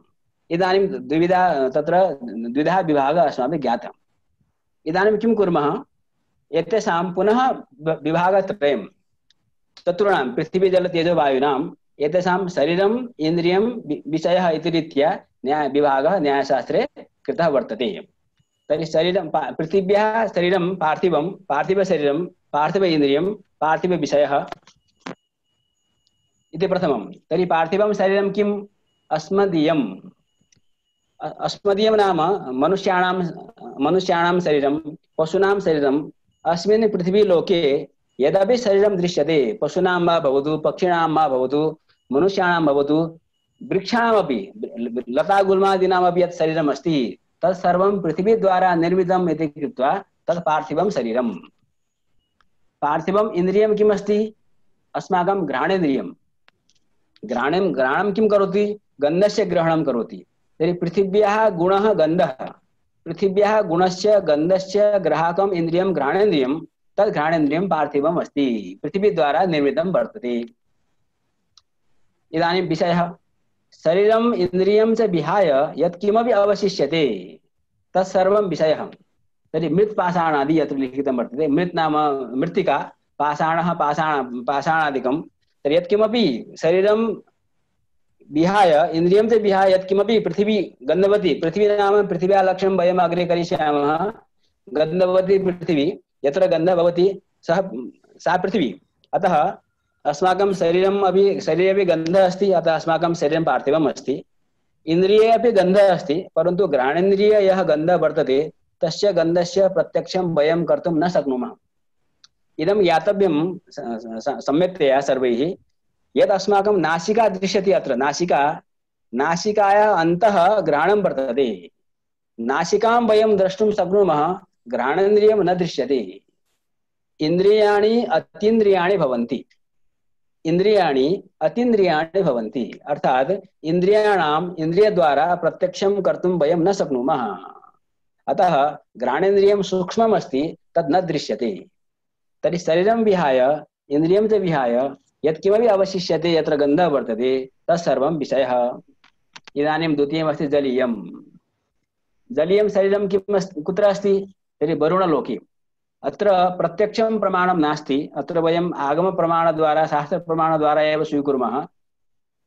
इदानीं द्विविधा तत्र द्विधा विभागः अस्माभिः ज्ञातम्। इदानीं किं कुर्मः, एतेषां पुनः विभागत्रयं चतुर्णां पृथिवी जल तेजो वायूनां एतेषां शरीरम् इन्द्रियं विषयः इति रीत्या न्याय विभागः न्यायशास्त्रे कृतः वर्तते। तर्हि शरीरं पृथिव्याः शरीरं पार्थिवं, पार्थिवशरीरं, पार्थिव इन्द्रियं, पार्थिवविषयः इति प्रथमं। तर्हि पार्थिवं शरीरं किम्? अस्मदीयम्। अस्मदीयं नाम मनुष्याणां मनुष्याणां शरीरं, पशूनां शरीरम्। अस्मिन् पृथ्वीलोके यदपि शरीरं दृश्यते, पशूनां वा भवतु, पक्षिणां वा भवतु, मनुष्याणां भवतु, वृक्षाणामपि, लतागुल्मादीनामपि यत् शरीरम् अस्ति तत् सर्वं पृथिवीद्वारा निर्मितम् इति कृत्वा तत् पार्थिवं शरीरम्। पार्थिवम् इन्द्रियं किम् अस्ति? अस्माकं घ्राणेन्द्रियं। घ्राणं घ्राणं किं करोति? गन्धस्य ग्रहणं करोति। तर्हि पृथिव्याः गुणः गन्धः। पृथिव्याः गुणस्य गन्धस्य ग्राहकम् इन्द्रियं घ्राणेन्द्रियं, तद् घ्राणेन्द्रियं पार्थिवम् अस्ति, पृथिवीद्वारा निर्मितं वर्तते। इदानीं विषयः, शरीरम् इन्द्रियं च विहाय यत् किमपि अवशिष्यते तत्सर्वं विषयः। तर्हि मृत् पाषाणादि यत्र लिखितं वर्तते, मृत् नाम मृत्तिका, पाषाणः पाषाण पाषाणादिकं। तर्हि यत्किमपि शरीरं विहाय, इन्द्रियं च विहाय यत्किमपि पृथिवी गन्धवती, पृथिवी नाम पृथिव्याः लक्षणं वयम् अग्रे करिष्यामः। गन्धवती पृथिवी, यत्र गन्धः भवति सः सा पृथिवी। अतः अस्माकं शरीरम् अपि, शरीरे अपि गन्धः अस्ति, अतः अस्माकं शरीरं पार्थिवम् अस्ति। इन्द्रिये अपि गन्धः अस्ति, परन्तु घ्राणेन्द्रिये यः गन्धः वर्तते तस्य गन्धस्य प्रत्यक्षं वयं कर्तुं न शक्नुमः। इदं ज्ञातव्यं सम्यक्तया सर्वैः। यद् अस्माकं नासिका दृश्यते, अत्र नासिका, नासिकायाः अन्तः घ्राणं वर्तते। नासिकां वयं द्रष्टुं शक्नुमः, घ्राणेन्द्रियं न दृश्यते। इन्द्रियाणि अतीन्द्रियाणि भवन्ति, इन्द्रियाणि अतीन्द्रियाणि भवन्ति, अर्थात् इन्द्रियाणाम् इन्द्रियद्वारा प्रत्यक्षं कर्तुं वयं न शक्नुमः। अतः घ्राणेन्द्रियं सूक्ष्मम् अस्ति, तद् न दृश्यते। तर्हि शरीरं विहाय, इन्द्रियं च विहाय यत्किमपि अवशिष्यते, यत्र गन्धः वर्तते तत्सर्वं विषयः। इदानीं द्वितीयमस्ति जलीयं। जलीयं शरीरं किम् अस्ति, कुत्र अस्ति? तर्हि वरुणलोके। अत्र प्रत्यक्षं प्रमाणं नास्ति, अत्र वयम् आगमप्रमाणद्वारा, शास्त्रप्रमाणद्वारा एव स्वीकुर्मः।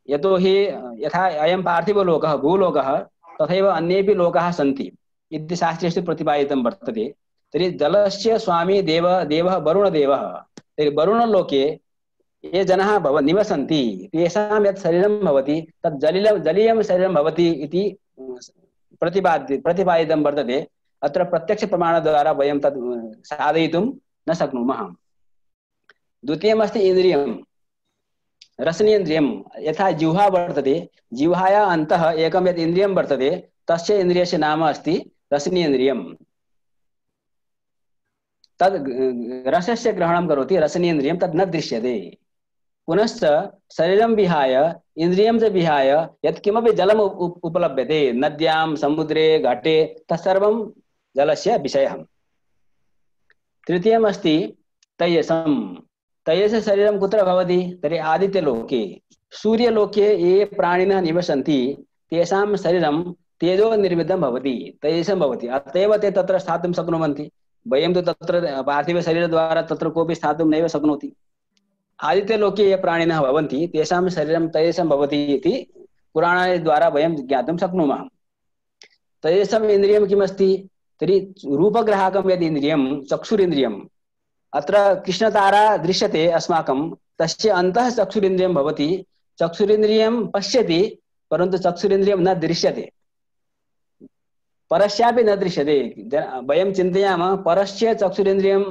यतोहि यथा अयं पार्थिवलोकः भूलोकः, तथैव अन्येपि लोकाः सन्ति इति शास्त्रेषु प्रतिपादितं वर्तते। तर्हि जलस्य स्वामी देव देवः वरुणदेवः। तर्हि वरुणलोके ये जनाः भव निवसन्ति तेषां यत् शरीरं भवति तत् जलीय जलीयं शरीरं भवति इति प्रतिपाद्य प्रतिपादितं वर्तते। अत्र प्रत्यक्ष प्रमाणद्वारा वयं तत् साधयितुं न शक्नुमः। द्वितीयमस्ति इन्द्रियं, रसनेन्द्रियं। यथा जिह्वा वर्तते, जिह्वायाः अन्तः एकं यत् इन्द्रियं वर्तते, तस्य इन्द्रियस्य नाम अस्ति रसनेन्द्रियं। तद् रसस्य ग्रहणं करोति, रसनेन्द्रियं, तद् न दृश्यते। पुनश्च शरीरं विहाय, इन्द्रियं च विहाय यत्किमपि जलम् उपलभ्यते, नद्यां, समुद्रे, घाटे, तत्सर्वं जलस्य विषयः। तृतीयमस्ति तैजसं। तैजस शरीरं कुत्र भवति? तर्हि आदित्यलोके। सूर्यलोके ये प्राणिनः निवसन्ति तेषां शरीरं तेजो निर्मितं भवति, तैजसं भवति, अत एव ते तत्र स्थातुं शक्नुवन्ति। वयं तु तत्र पार्थिवशरीरद्वारा तत्र कोऽपि स्थातुं नैव शक्नोति। आदित्यलोके ये प्राणिनः भवन्ति तेषां शरीरं तैजसं भवति इति पुराणद्वारा वयं ज्ञातुं शक्नुमः। तैजसम् इन्द्रियं किमस्ति? तर्हि रूपग्राहकं यद् इन्द्रियं, चक्षुरिन्द्रियम्। अत्र कृष्णतारा दृश्यते अस्माकं, तस्य अन्तः चक्षुरिन्द्रियं भवति। चक्षुरिन्द्रियं पश्यति, परन्तु चक्षुरिन्द्रियं न दृश्यते, परस्यापि न दृश्यते। वयं चिन्तयामः परस्य चक्षुरिन्द्रियं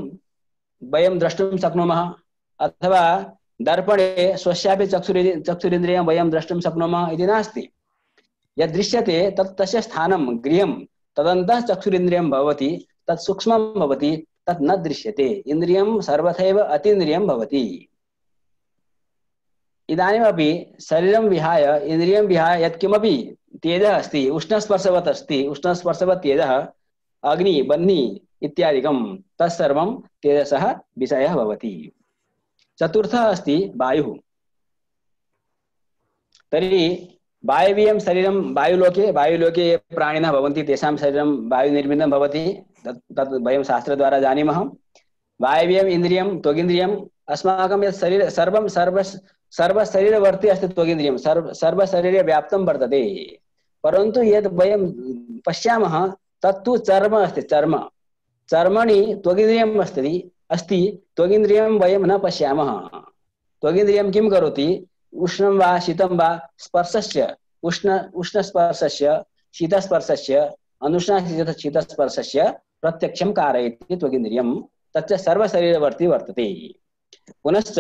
वयं द्रष्टुं शक्नुमः, अथवा दर्पणे स्वस्यापि चक्षुरि चक्षुरिन्द्रियं वयं द्रष्टुं शक्नुमः इति नास्ति। यद् दृश्यते तत् तस्य स्थानं, गृहं, तदन्तः चक्षुरिन्द्रियं भवति, तत् सूक्ष्मं भवति, तत् न दृश्यते। इन्द्रियं सर्वथैव अतीन्द्रियं भवति। इदानीमपि शरीरं विहाय, इन्द्रियं विहाय यत्किमपि तेजः अस्ति, उष्णस्पर्शवत् अस्ति, उष्णस्पर्शवत् तेजः, अग्नि, बह्नि इत्यादिकं, तत्सर्वं तेजसः विषयः भवति। चतुर्थः अस्ति वायुः। तर्हि वायवीयं शरीरं वायुलोके, वायुलोके ये प्राणिनः भवन्ति तेषां शरीरं वायुनिर्मितं भवति, तत् तत् वयं शास्त्रद्वारा जानीमः। वायवीयम् इन्द्रियं त्वगिन्द्रियम्। अस्माकं यत् शरीर सर्वं सर्व सर्वशरीरवर्ती अस्ति त्वगिन्द्रियं, सर्व सर्वशरीरे व्याप्तं वर्तते, परन्तु यद् वयं पश्यामः तत्तु चर्म अस्ति, चर्म चर्मणि त्वगिन्द्रियम् अस्ति अस्ति त्वगिन्द्रियं वयं न पश्यामः। त्वगिन्द्रियं किं करोति? उष्णं वा शीतं वा स्पर्शस्य, उष्ण उष्णस्पर्शस्य शीतस्पर्शस्य अनुष्णशीतस्पर्शस्य प्रत्यक्षं कारयति त्वगिन्द्रियं, तच्च सर्वशरीरवर्ती वर्तते। पुनश्च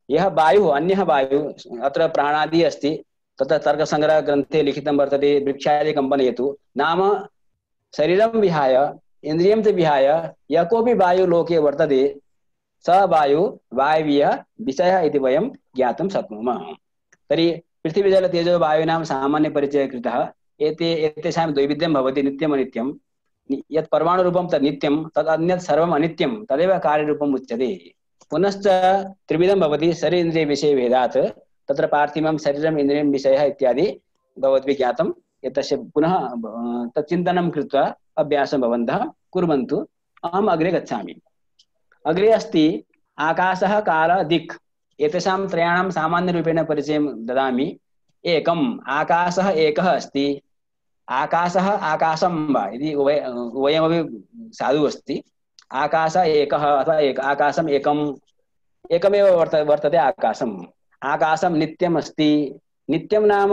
यः वायुः, अन्यः वायुः, अत्र प्राणादि अस्ति, तत्र तर्कसङ्ग्रहग्रन्थे लिखितं वर्तते वृक्षादि कम्पनयतु, नाम शरीरं विहाय इन्द्रियं च विहाय यः कोऽपि वायुलोके वर्तते स वायु वायवीयः विषयः इति वयं ज्ञातुं शक्नुमः। तर्हि पृथिवीजलतेजो वायूनां सामान्यपरिचयः कृतः। एते एतेषां द्वैविध्यं भवति, नित्यम् अनित्यं। यत् परमाणुरूपं तत् नित्यं, तद् अन्यत् सर्वम् अनित्यं, तदेव कार्यरूपम् उच्यते। पुनश्च त्रिविधं भवति शरीरेन्द्रियविषयभेदात्, तत्र पार्थिवं शरीरम् इन्द्रियं विषयः इत्यादि भवद्भिः ज्ञातं। एतस्य पुनः तच्चिन्तनं कृत्वा अभ्यासं भवन्तः कुर्वन्तु। अहम् अग्रे गच्छामि। अग्रे अस्ति आकाशः, कालः, दिक्। एतेषां त्रयाणां सामान्यरूपेण परिचयं ददामि। एकम् आकाशः एकः अस्ति। आकाशः आकाशं वा इति उभय उभयमपि साधु अस्ति। आकाशः एकः अथवा एक आकाशम् एकम्, एकमेव वर्त वर्तते आकाशम्। आकाशं नित्यम् अस्ति। नित्यं नाम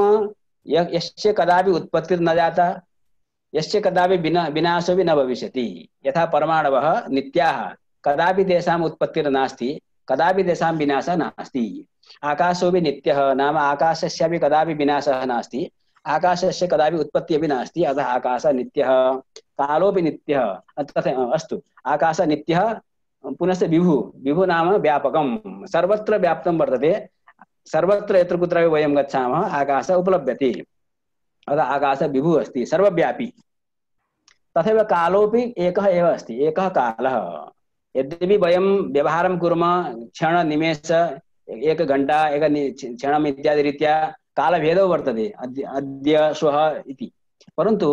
यस्य कदापि उत्पत्तिर्न जाता, यस्य कदापि विना विनाशोऽपि न भविष्यति। यथा परमाणवः नित्याः, कदापि तेषाम् उत्पत्तिर्नास्ति, कदापि तेषां विनाशः नास्ति। आकाशोऽपि नित्यः, नाम आकाशस्यापि कदापि विनाशः नास्ति, आकाशस्य कदापि उत्पत्तिः अपि नास्ति, अतः आकाशः नित्यः। कालोऽपि नित्यः, तथा अस्तु। आकाशः नित्यः। पुनश्च विभुः, विभुः नाम व्यापकं, सर्वत्र व्याप्तं वर्तते। सर्वत्र यत्र कुत्रापि वयं गच्छामः आकाशः उपलभ्यते, अतः आकाशः विभुः अस्ति, सर्वव्यापी। तथैव कालोऽपि एकः एव अस्ति, एकः कालः। यद्यपि वयं व्यवहारं कुर्मः क्षण निमेष एक घण्टा एक क्षणम् इत्यादि रीत्या कालभेदो वर्तते, अद्य अद्य श्वः इति, परन्तु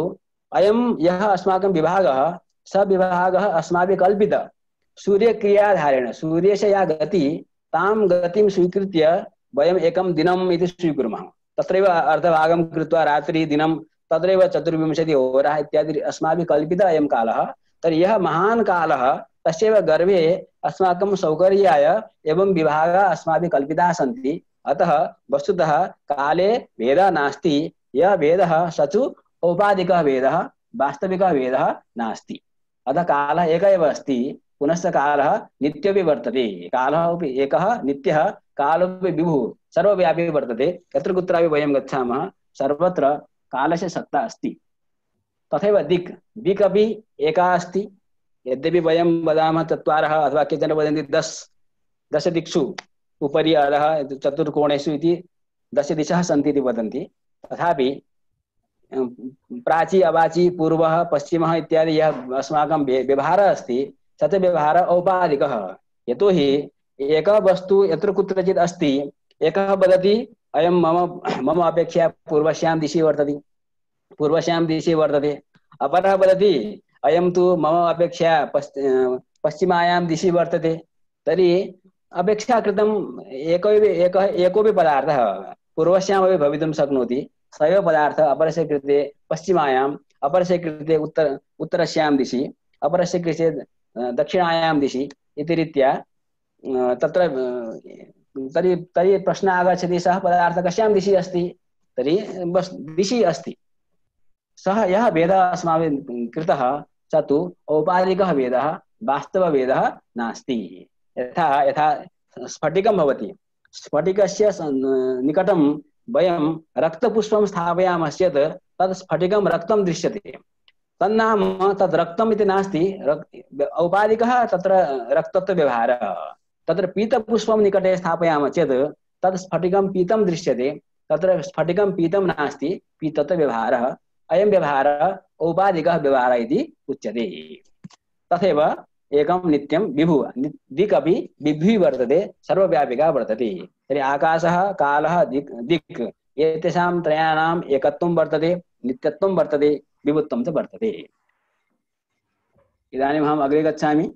अयं यः अस्माकं विभागः, स विभागः अस्माभिः कल्पितः सूर्यक्रियाधारेण। सूर्यस्य या गति, तां गतिं स्वीकृत्य वयम् एकं दिनम् इति स्वीकुर्मः। तत्रैव अर्धभागं कृत्वा रात्रि दिनं, तत्रैव चतुर्विंशतिः होराः इत्यादि अस्माभिः कल्पितः अयं कालः। तर्हि यः महान् कालः, तस्यैव गर्भे अस्माकं सौकर्याय एवं विभागाः अस्माभिः कल्पिताः सन्ति। अतः वस्तुतः काले भेदः नास्ति। यः भेदः स तु औपाधिकः भेदः, वास्तविकः भेदः नास्ति। अतः कालः एकः एव अस्ति। पुनश्च कालः नित्यपि वर्तते। कालः अपि एकः नित्यः, कालोऽपि विभुः, सर्वव्यापी वर्तते। यत्र कुत्रापि वयं गच्छामः सर्वत्र कालस्य सत्ता अस्ति। तथैव दिक्, दिक् अपि एका अस्ति। यद्यपि वयं वदामः चत्वारः अथवा केचन वदन्ति दश दश दिक्षु उपरि अधः चतुर्कोणेषु इति दश दिशः सन्ति इति वदन्ति। तथापि प्राची अवाची पूर्वः पश्चिमः इत्यादि यः अस्माकं व्यवहारः अस्ति, स च व्यवहारः औपाधिकः। यतोहि एकः वस्तु यत्र कुत्रचित् अस्ति, एकः वदति अयं मम मम अपेक्षया पूर्वस्यां दिशि वर्तते, पूर्वस्यां दिशि वर्तते। अपरः वदति अयं तु मम अपेक्षया पश्चिमायां दिशि वर्तते। तर्हि अपेक्षा कृतम् एको एकः एकोऽपि पदार्थः पूर्वस्यामपि भवितुं शक्नोति। स एव पदार्थः अपरस्य कृते पश्चिमायाम्, अपरस्य कृते उत्तर उत्तरस्यां दिशि, अपरस्य कृते दक्षिणायां दिशि इति रीत्या तत्र तर्हि तर्हि प्रश्नः आगच्छति, सः पदार्थः कस्यां दिशि अस्ति? तर्हि बस् दिशि अस्ति। सः यः भेदः अस्माभिः कृतः स तु औपाधिकः भेदः, वास्तवभेदः नास्ति। यथा यथा स्फटिकं भवति, स्फटिकस्य निकटं वयं रक्तपुष्पं स्थापयामश्चेत् तत् स्फटिकं रक्तं दृश्यते। तन्नाम तद् रक्तम् इति नास्ति, औपाधिकः तत्र रक्तत्व व्यवहारः। तत्र पीतपुष्पं निकटे स्थापयामः चेत् तद् स्फटिकं पीतं दृश्यते, तत्र स्फटिकं पीतं नास्ति, पीतत्व व्यवहारः। अयं व्यवहारः औपाधिकः व्यवहारः इति उच्यते। तथैव एकं नित्यं विभुः, दिक् अपि विभुः वर्तते, सर्वव्यापिका वर्तते। तर्हि आकाशः, कालः, दिक् दिक् एतेषां त्रयाणाम् एकत्वं वर्तते, नित्यत्वं वर्तते, विभुत्वं च वर्तते। इदानीम् अहम् अग्रे गच्छामि।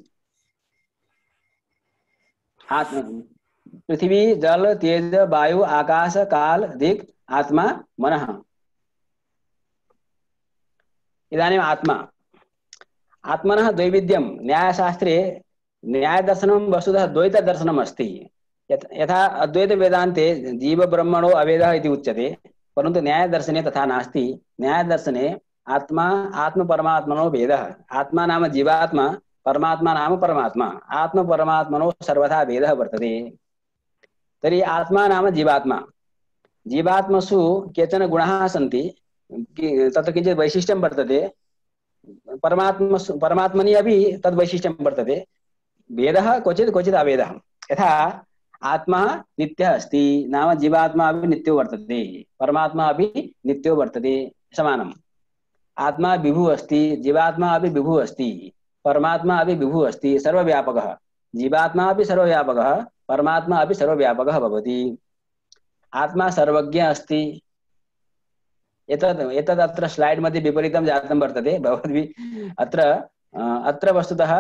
पृथ्वी जल तेज वायु आकाश काल दिक् आत्मा मनः। इदानीम् आत्मा आत्मनः द्वैविध्यं न्यायशास्त्रे न्यायदर्शनं वस्तुतः द्वैतदर्शनम् अस्ति। यथा अद्वैत वेदान्ते जीव ब्रह्मणो अभेदः इति उच्यते, परन्तु न्यायदर्शने तथा नास्ति। न्यायदर्शने आत्मा आत्म परमात्मनो भेदः। आत्मा नाम जीवात्मा, परमात्मा नाम परमात्मा। आत्म परमात्मनो सर्वथा भेदः वर्तते। तर्हि आत्मा नाम जीवात्मा। जीवात्मसु केचन गुणाः सन्ति, तत्र किञ्चित् वैशिष्ट्यं वर्तते। परमात्मसु परमात्मनि अपि तद् वैशिष्ट्यं वर्तते। भेदः क्वचित् क्वचित् अभेदः। यथा आत्मा नित्यः अस्ति, नाम जीवात्मा अपि नित्यो वर्तते, परमात्मा अपि नित्यो वर्तते, समानम्। आत्मा विभुः अस्ति, जीवात्मा अपि विभुः अस्ति, परमात्मा अपि विभुः अस्ति, सर्वव्यापकः। जीवात्मा अपि सर्वव्यापकः, परमात्मा अपि सर्वव्यापकः भवति। आत्मा सर्वज्ञ अस्ति। एतद् एतद् अत्र स्लाइड् मध्ये विपरीतं जातं वर्तते। भवद्भिः अत्र अत्र वस्तुतः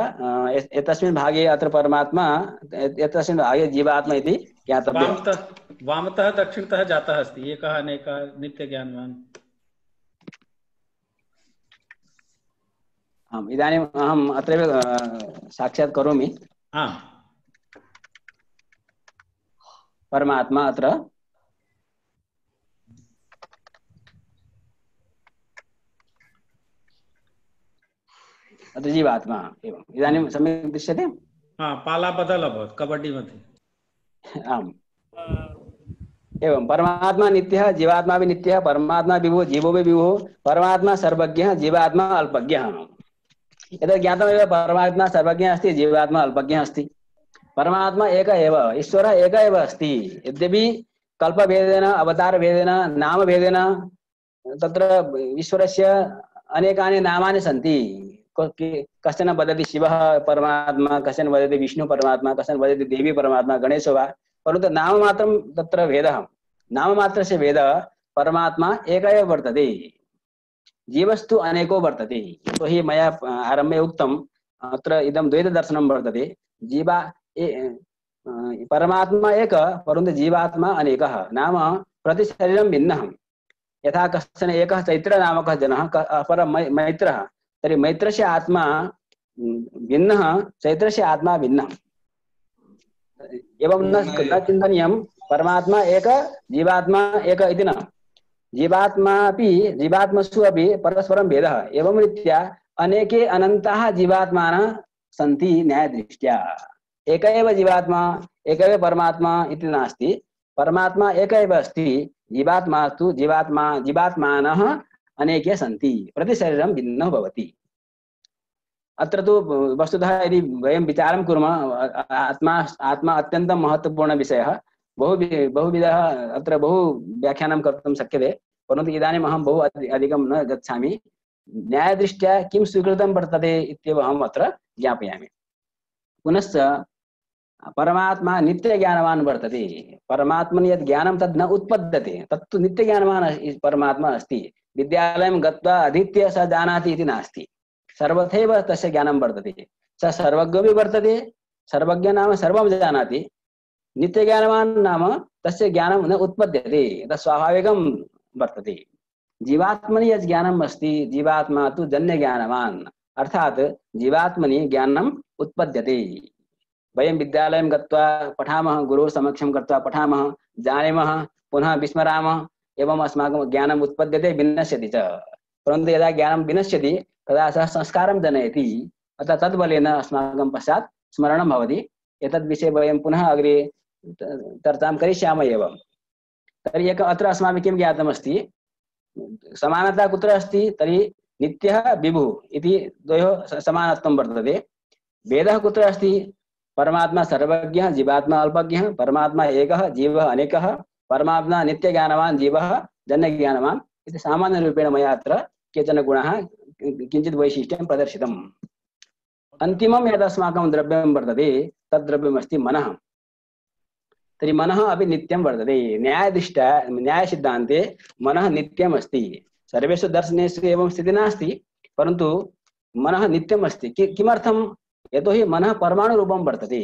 एतस्मिन् भागे अत्र परमात्मा, एतस्मिन् भागे जीवात्मा इति ज्ञातव्यम्। वामतः वामतः दक्षिणतः जातः अस्ति। एकः अनेकः नित्यज्ञानवान्। आम्, इदानीम् अहम् अत्रैव साक्षात् करोमि। आम्, परमात्मा अत्र अत्र जीवात्मा एवम्। इदानीं सम्यक् दृश्यते? हा, पाला बदल अभवत् कबड्डी मध्ये। आम्, एवं परमात्मा नित्यः, जीवात्मा भी नित्यः, परमात्मा विभुः, जीवो भी विभुः, परमात्मा सर्वज्ञः, जीवात्मा अल्पज्ञः। एतत् ज्ञातमेव, परमात्मा सर्वज्ञः अस्ति, जीवात्मा अल्पज्ञः अस्ति। परमात्मा एक एव, ईश्वरः एक एव अस्ति। यद्यपि कल्पभेदेन, अवतारभेदेन, नामभेदेन तत्र ईश्वरस्य अनेकानि नामानि सन्ति। कश्चन वदति शिवः परमात्मा, कश्चन वदति विष्णु परमात्मा, कश्चन वदति देवी परमात्मा, गणेशो वा, परन्तु नाममात्रं तत्र भेदः। नाममात्रस्य भेदः, परमात्मा एक एव वर्तते, जीवस्तु अनेको वर्तते। यतोहि मया आरम्भे उक्तम्, अत्र इदं द्वैतदर्शनं वर्तते। जीवा परमात्मा एक, परन्तु जीवात्मा अनेकः। नाम प्रतिशरीरं भिन्नः। यथा कश्चन एकः चैत्र नामकः जनः, अपरः मैत्रः, तर्हि मैत्रस्य आत्मा भिन्नः, चैत्रस्य आत्मा भिन्नः। एवं न न चिन्तनीयं परमात्मा एक, जीवात्मा एक इति न। जीवात्मा अपि जीवात्मसु अपि परस्परं भेदः। एवं रीत्या अनेके अनन्ताः जीवात्मानः सन्ति न्यायदृष्ट्या। एक एव जीवात्मा, एक एव परमात्मा इति नास्ति। परमात्मा एक एव अस्ति, जीवात्मा तु जीवात्मा जीवात्मानः अनेके सन्ति, प्रतिशरीरं भिन्नः भवति। अत्र तु वस्तुतः यदि वयं विचारं कुर्मः, आत्मा आत्मा अत्यन्तं महत्त्वपूर्णः विषयः। बहु बहुविधः अत्र बहु व्याख्यानं कर्तुं शक्यते, परन्तु इदानीम् अहं बहु अधिकं न गच्छामि। न्यायदृष्ट्या किं स्वीकृतं वर्तते इत्येव अहम् अत्र ज्ञापयामि। पुनश्च परमात्मा नित्यज्ञानवान् वर्तते। परमात्मनि यद् ज्ञानं तद् न उत्पद्यते, तत्तु नित्यज्ञानवान् परमात्मा अस्ति। विद्यालयं गत्वा अधीत्य स जानाति इति नास्ति, सर्वथैव तस्य ज्ञानं वर्तते। स सर्वज्ञो भी वर्तते, सर्वज्ञ नाम सर्वं जानाति। नित्यज्ञानवान् नाम तस्य ज्ञानं न उत्पद्यते, तत् स्वाभाविकं वर्तते। जीवात्मनि यत् ज्ञानम् अस्ति, जीवात्मा तु जन्यज्ञानवान्, अर्थात् जीवात्मनि ज्ञानम् उत्पद्यते। वयं विद्यालयं गत्वा पठामः, गुरोः समक्षं गत्वा पठामः, जानीमः, पुनः विस्मरामः, एवम् अस्माकं ज्ञानम् उत्पद्यते, विनश्यति च। परन्तु यदा ज्ञानं विनश्यति तदा सः संस्कारं जनयति, अतः तद्बलेन अस्माकं पश्चात् स्मरणं भवति। एतद्विषये वयं पुनः अग्रे चर्चां करिष्यामः एव। तर्हि एक अत्र अस्माभिः किं ज्ञातमस्ति, समानता कुत्र अस्ति, तर्हि नित्यः विभुः इति द्वयोः समानत्वं वर्तते। भेदः कुत्र अस्ति, परमात्मा सर्वज्ञः, जीवात्मा अल्पज्ञः, परमात्मा एकः, जीवः अनेकः, परमात्मा नित्यज्ञानवान्, जीवः जन्यज्ञानवान् इति सामान्यरूपेण मया अत्र केचन गुणाः किञ्चित् वैशिष्ट्यं प्रदर्शितम्। अन्तिमं यद् अस्माकं द्रव्यं वर्तते तद् द्रव्यमस्ति मनः। तर्हि मनः अपि नित्यं वर्तते। न्यायदृष्ट्या न्यायसिद्धान्ते मनः नित्यम् अस्ति। सर्वेषु दर्शनेषु एवं स्थितिः नास्ति, परन्तु मनः नित्यम् अस्ति। कि किमर्थं, यतोहि मनः परमाणुरूपं वर्तते।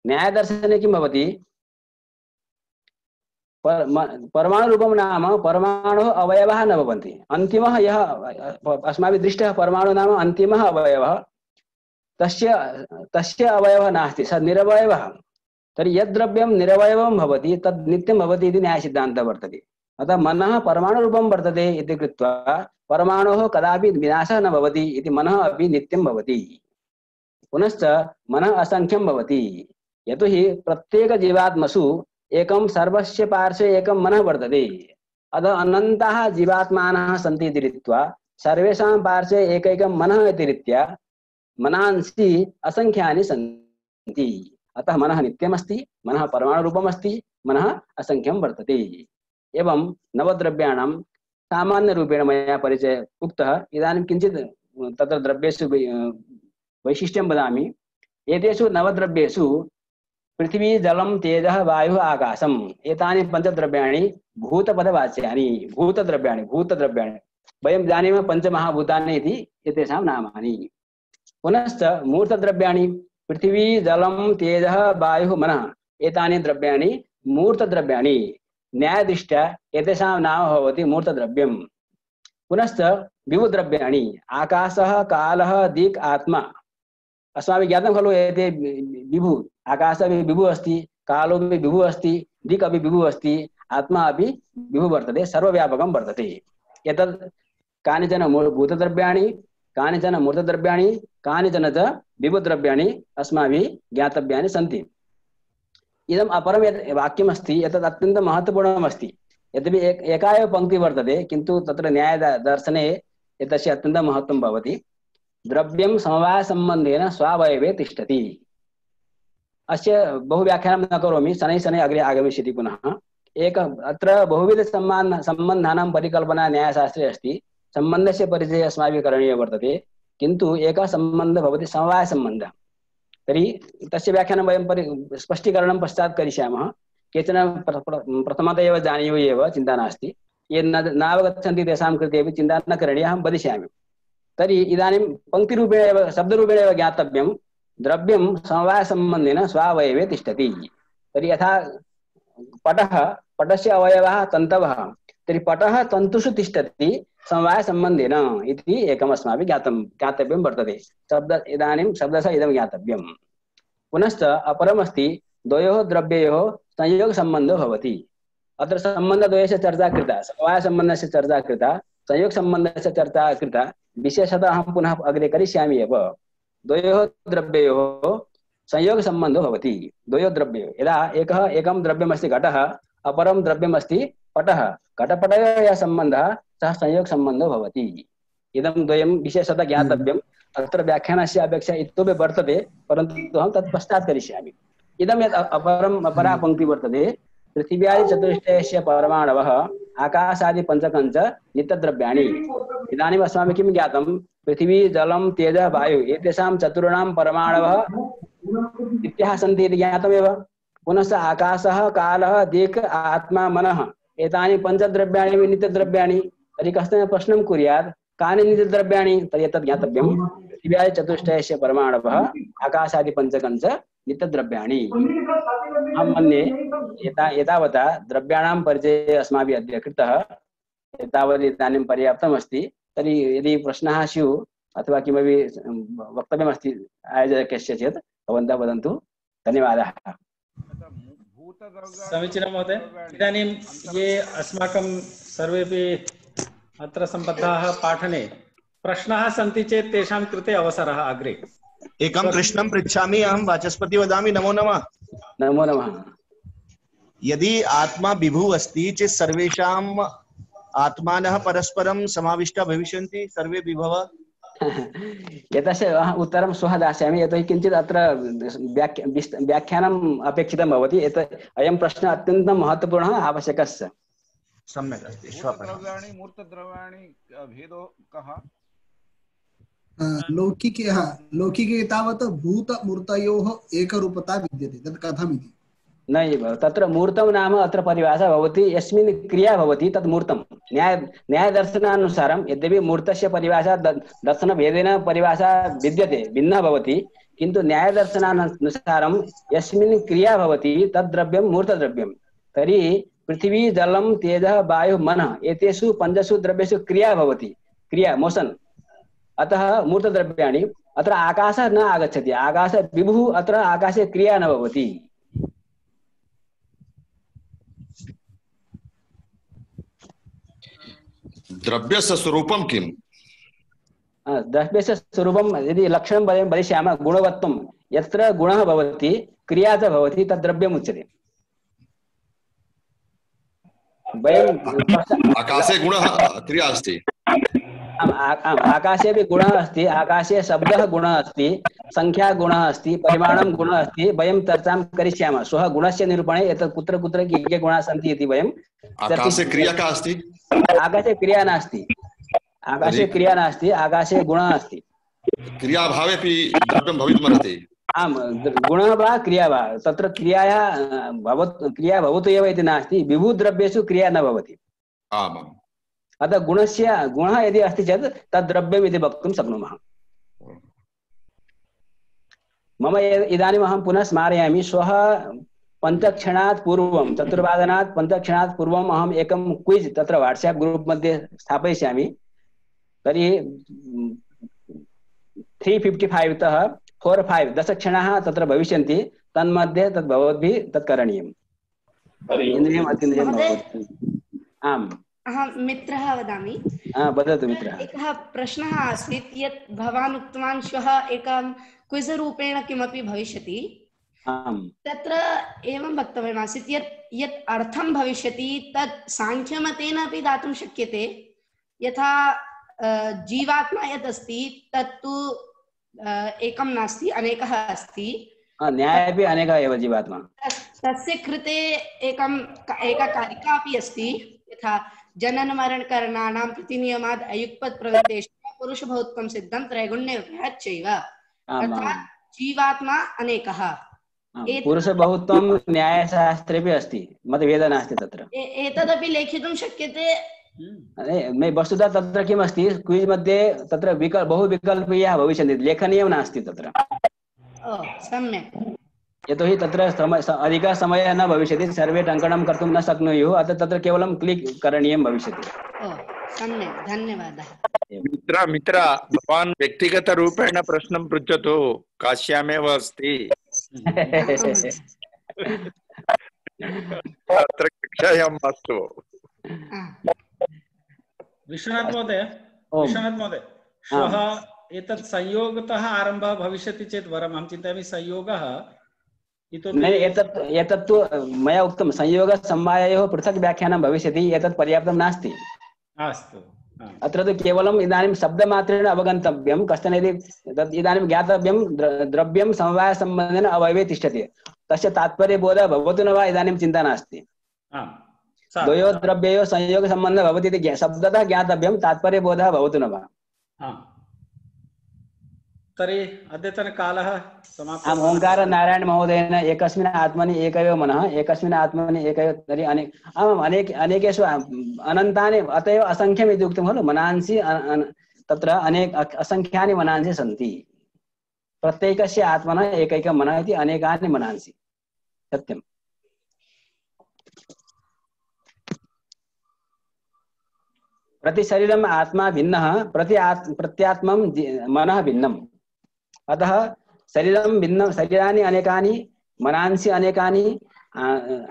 न्यायदर्शने किं भवति, पर परमाणुरूपं नाम परमाणुः अवयवः न भवन्ति। अन्तिमः यः अस्माभिः दृष्टः परमाणु नाम अन्तिमः अवयवः, तस्य तस्य अवयवः नास्ति, स निरवयवः। तर्हि यद् द्रव्यं निरवयवं भवति तद् नित्यं भवति इति न्यायसिद्धान्तः वर्तते। अतः मनः परमाणुरूपं वर्तते इति कृत्वा परमाणोः कदापि विनाशः न भवति इति मनः अपि नित्यं भवति। पुनश्च मनः असंख्यं भवति, यतोहि प्रत्येकजीवात्मसु एकं सर्वस्य पार्श्वे एकं मनः वर्तते। अतः अनन्ताः जीवात्मानः सन्ति इति रीत्या सर्वेषां पार्श्वे एकैकं मनः इति रीत्या मनांसि असंख्यानि सन्ति। अतः मनः नित्यमस्ति, मनः परमाणुरूपमस्ति, मनः असंख्यं वर्तते। एवं नवद्रव्याणां सामान्यरूपेण मया परिचय उक्तः। इदानीं किञ्चित् तत्र द्रव्येषु वैशिष्ट्यं वदामि। एतेषु नवद्रव्येषु पृथिवी, जलं, तेजः, वायुः, आकाशम् एतानि पञ्चद्रव्याणि भूतपदवाच्यानि। भूतद्रव्याणि भूतद्रव्याणि वयं जानीमः पञ्चमहाभूतानि इति एतेषां नामानि। पुनश्च मूर्तद्रव्याणि पृथिवी, जलं, तेजः, वायुः, मनः एतानि द्रव्याणि मूर्तद्रव्याणि। न्यायदृष्ट्या एतेषां नाम भवति मूर्तद्रव्यम्। पुनश्च विभुद्रव्याणि आकाशः, कालः, दिक्, आत्मा। अस्माभिः ज्ञातं खलु एते विभु, आकाशः अपि विभुः अस्ति, कालो अपि विभुः अस्ति, दिक् अपि विभुः अस्ति, आत्मा अपि विभुः वर्तते, सर्वव्यापकं वर्तते। एतत् कानिचन भूतद्रव्याणि, कानिचन मूर्तद्रव्याणि, कानिचन च विभुद्रव्याणि अस्माभिः ज्ञातव्यानि सन्ति। इदम् अपरं यत् वाक्यमस्ति एतत् अत्यन्तं महत्त्वपूर्णमस्ति। यद्यपि एक एका एव पङ्क्तिः वर्तते, किन्तु तत्र न्यायदर्शने एतस्य अत्यन्तं महत्त्वं भवति। द्रव्यं समवायसम्बन्धेन स्वावयवे तिष्ठति। अस्य बहुव्याख्यानं न करोमि, शनैः शनैः अग्रे आगमिष्यति पुनः। एक अत्र बहुविधसम्बन्ध सम्बन्धानां परिकल्पना न्यायशास्त्रे अस्ति। सम्बन्धस्य परिचयः अस्माभिः करणीयः वर्तते, किन्तु एकः सम्बन्धः भवति समवायसम्बन्धः। तर्हि तस्य व्याख्यानं वयं परि स्पष्टीकरणं पश्चात् करिष्यामः। केचन प्रथमतः एव जानीयुः एव, चिन्ता नास्ति। ये न नावगच्छन्ति तेषां कृते अपि चिन्ता न करणीया, अहं वदिष्यामि। तर्हि इदानीं पङ्क्तिरूपेण एव शब्दरूपेण एव ज्ञातव्यं, द्रव्यं समवायसम्बन्धेन स्वावयवे तिष्ठति। तर्हि यथा पटः, पटस्य अवयवः तन्तवः, तर्हि पटः तन्तुषु तिष्ठति समवायसम्बन्धेन इति एकम् अस्माभिः ज्ञातं ज्ञातव्यं वर्तते। शब्द इदानीं शब्दशः इदं ज्ञातव्यं। पुनश्च अपरमस्ति द्वयोः द्रव्ययोः संयोगसम्बन्धो भवति। अत्र सम्बन्धद्वयस्य चर्चा कृता, समवायसम्बन्धस्य चर्चा कृता, संयोगसम्बन्धस्य चर्चा कृता। विशेषतः अहं पुनः अग्रे करिष्यामि एव। द्वयोः द्रव्ययोः संयोगसम्बन्धो भवति। द्वयोः द्रव्ययोः यदा एकः एकं द्रव्यमस्ति घटः, अपरं द्रव्यमस्ति पटः, घटपटयोः यः सम्बन्धः सः संयोगसम्बन्धो भवति। इदं द्वयं विशेषतः ज्ञातव्यम्। अत्र व्याख्यानस्य अपेक्षा इतोपि वर्तते, परन्तु अहं तत् पश्चात् करिष्यामि। इदं यत् अपरम् अपरा पङ्क्तिः वर्तते, पृथिव्यादिचतुष्टयस्य परमाणवः आकाशादिपञ्चकञ्च नित्यद्रव्याणि। इदानीम् अस्माभिः किं ज्ञातं, पृथिवी, जलं, तेजः, वायुः एतेषां चतुर्णां परमाणवः नित्याः सन्ति इति ज्ञातमेव। पुनश्च आकाशः, कालः, दिक्, आत्मा, मनः एतानि पञ्चद्रव्याणि नित्यद्रव्याणि। तर्हि कश्चन प्रश्नं कुर्यात्, कानि नित्यद्रव्याणि? तर्हि एतत् ज्ञातव्यं, पृथिव्यादिचतुष्टयस्य परमाणवः आकाशादिपञ्चकञ्च नित्यद्रव्याणि। अहं मन्ये एता एतावता द्रव्याणां परिचयः अस्माभिः अद्य कृतः। एतावत् इदानीं पर्याप्तमस्ति। तर्हि यदि प्रश्नाः स्युः अथवा किमपि वक्तव्यमस्ति आयोजकस्य चेत् भवन्तः वदन्तु। धन्यवादाः। समीचीनं महोदय। इदानीं ये अस्माकं सर्वेपि अत्र सम्बद्धाः पाठने प्रश्नाः सन्ति चेत् तेषां कृते अवसरः अग्रे। एकं प्रश्नं पृच्छामि अहं, वाचस्पति वदामि। नमो नमः। नमो नमः। यदि आत्मा विभुः अस्ति चेत् सर्वेषाम् आत्मानः परस्परं समाविष्टाः भविष्यन्ति, सर्वे विभवः? एतस्य उत्तरं श्वः दास्यामि, यतोहि किञ्चित् अत्र व्याख्या व्याख्यानम् अपेक्षितं भवति। एत अयं प्रश्नः अत्यन्तं महत्त्वपूर्णः, आवश्यकः। सम्यक् अस्ति। भूतद्रव्याणि मूर्तद्रव्याणि भेदो कः? लौकिके हा लौकिके तावत् भूतमूर्तयोः एकरूपता विद्यते। तत् कथमिति? नैव, तत्र मूर्तं नाम अत्र परिभाषा भवति, यस्मिन् क्रिया भवति तत् मूर्तं। न्याय न्यायदर्शनानुसारं यद्यपि मूर्तस्य परिभाषा दर्शनभेदेन परिभाषा विद्यते, भिन्ना भवति, किन्तु न्यायदर्शनानुसारं यस्मिन् क्रिया भवति तद् द्रव्यं मूर्तद्रव्यं। तर्हि पृथिवी जलं तेजः वायुः मनः एतेषु पञ्चसु द्रव्येषु क्रिया भवति, क्रिया मोशन। अतः मूर्तद्रव्याणि अत्र आकाशः न आगच्छति, आकाशः विभुः, अत्र आकाशे क्रिया न भवति। द्रव्यस्य स्वरूपं किम्? द्रव्यस्य स्वरूपं यदि लक्षणं वयं वदिष्यामः, गुणवत्वं, यत्र गुणः भवति क्रिया च भवति तद् द्रव्यम् उच्यते। वयं आकाशे गुणः क्रिया अस्ति। आकाशे अपि गुणः अस्ति, आकाशे शब्दः गुणः अस्ति, संख्या गुणः अस्ति, परिमाणं गुणः अस्ति। वयं चर्चां करिष्यामः श्वः गुणस्य निरूपणे, एतत् कुत्र कुत्र के के गुणाः सन्ति इति वयं। आकाशे क्रिया का अस्ति? आकाशे क्रिया नास्ति, आकाशे क्रिया नास्ति, आकाशे गुणः अस्ति। क्रियाभावेपि द्रव्यं भवितुमर्हति। आम्, गुणः वा क्रिया वा, तत्र क्रियायाः भवतु, क्रिया भवतु एव इति नास्ति, विभुद्रव्येषु क्रिया न भवति। आमाम्। अतः गुणस्य गुणः यदि अस्ति चेत् तद् द्रव्यम् इति वक्तुं शक्नुमः। मम इदानीम् अहं पुनः स्मारयामि, श्वः पञ्चक्षणात् पूर्वं, चतुर्वादनात् पञ्चक्षणात् पूर्वम् अहम् एकं क्विज् तत्र वाट्साप् ग्रूप् मध्ये स्थापयिष्यामि। तर्हि त्री फिफ्टि फैव् तः फोर् फैव् दशक्षणाः तत्र भविष्यन्ति, तन्मध्ये तद् भवद्भिः तत् करणीयम्। इन्द्रियम् अतीन्द्रियं भवति। आम्, अहं मित्रः वदामि। वदतु मित्रः। एकः प्रश्नः आसीत् यत् भवान् उक्तवान् श्वः एकं क्विज़ रूपेण किमपि भविष्यति। आम्, तत्र एवं वक्तव्यमासीत् यत् यत् अर्थं भविष्यति तत् साङ्ख्यमतेन अपि दातुं शक्यते। यथा जीवात्मा यत् अस्ति तत्तु एकं नास्ति, अनेकः अस्ति। न्याये अपि अनेकः एव जीवात्मा। तस्य कृते एकं एका कारिका अपि अस्ति, यथा जनन मरण करणानां प्रतिनियमाद् अयुक्पत् प्रवृत्तेषु पुरुषभौत्वं सिद्धं त्रैगुण्यविभ्याच्चैव। अर्थात् जीवात्मा अनेकः। पुरुषबहुत्वं न्यायशास्त्रेपि अस्ति, मतभेदः नास्ति तत्र। एतदपि लेखितुं शक्यते। मे वस्तुतः तत्र किम् अस्ति, क्विज् मध्ये तत्र विकल्प बहु विकल्पीयाः भविष्यन्ति, लेखनीयं नास्ति तत्र। सम्यक्। यतोहि तत्र समय अधिकः समयः न भविष्यति, सर्वे टङ्कणं कर्तुं न शक्नुयुः, अतः तत्र केवलं क्लिक् करणीयं भविष्यति। सम्यक्, धन्यवादः। मित्र मित्र भवान् व्यक्तिगतरूपेण प्रश्नं पृच्छतु, काश्यामेव अस्ति। अत्र कक्षायां मास्तु। विश्वनाथ महोदय, विश्वनाथ महोदय, श्वः एतत् संयोगतः आरम्भः भविष्यति चेत् वरम्। अहं चिन्तयामि संयोगः इतोपि एतत् एतत्तु मया उक्तं, संयोगसमवाययोः पृथक् व्याख्यानं भविष्यति, एतत् पर्याप्तं नास्ति। अस्तु, अत्र तु केवलम् इदानीं शब्दमात्रेण अवगन्तव्यं, कश्चन यदि तद् इदानीं ज्ञातव्यं, द्रव्यं समवायसम्बन्धेन अवयवे तिष्ठति, तस्य तात्पर्यबोधः भवतु न वा इदानीं चिन्ता नास्ति। द्वयोः द्रव्ययोः संयोगसम्बन्धः भवति इति शब्दतः ज्ञातव्यं, तात्पर्यबोधः भवतु न वा। तर्हि अद्यतनकालः समाप्तः। आम्, ओङ्कार नारायण महोदयेन एकस्मिन् आत्मनि एक एव मनः, एकस्मिन् आत्मनि एक एव, तर्हि अनेक आमाम् अनेक अनेकेषु अनन्तानि, अत एव असङ्ख्यम् इति उक्तं खलु। मनांसि तत्र अनेक असङ्ख्यानि मनांसि सन्ति, प्रत्येकस्य आत्मनः एकैकं मनः इति अनेकानि मनांसि। सत्यम्। प्रतिशरीरम् आत्मा भिन्नः, प्रति प्रत्यात्मं मनः भिन्नम्। अतः शरीरं भिन्नं, शरीराणि अनेकानि, मनांसि अनेकानि,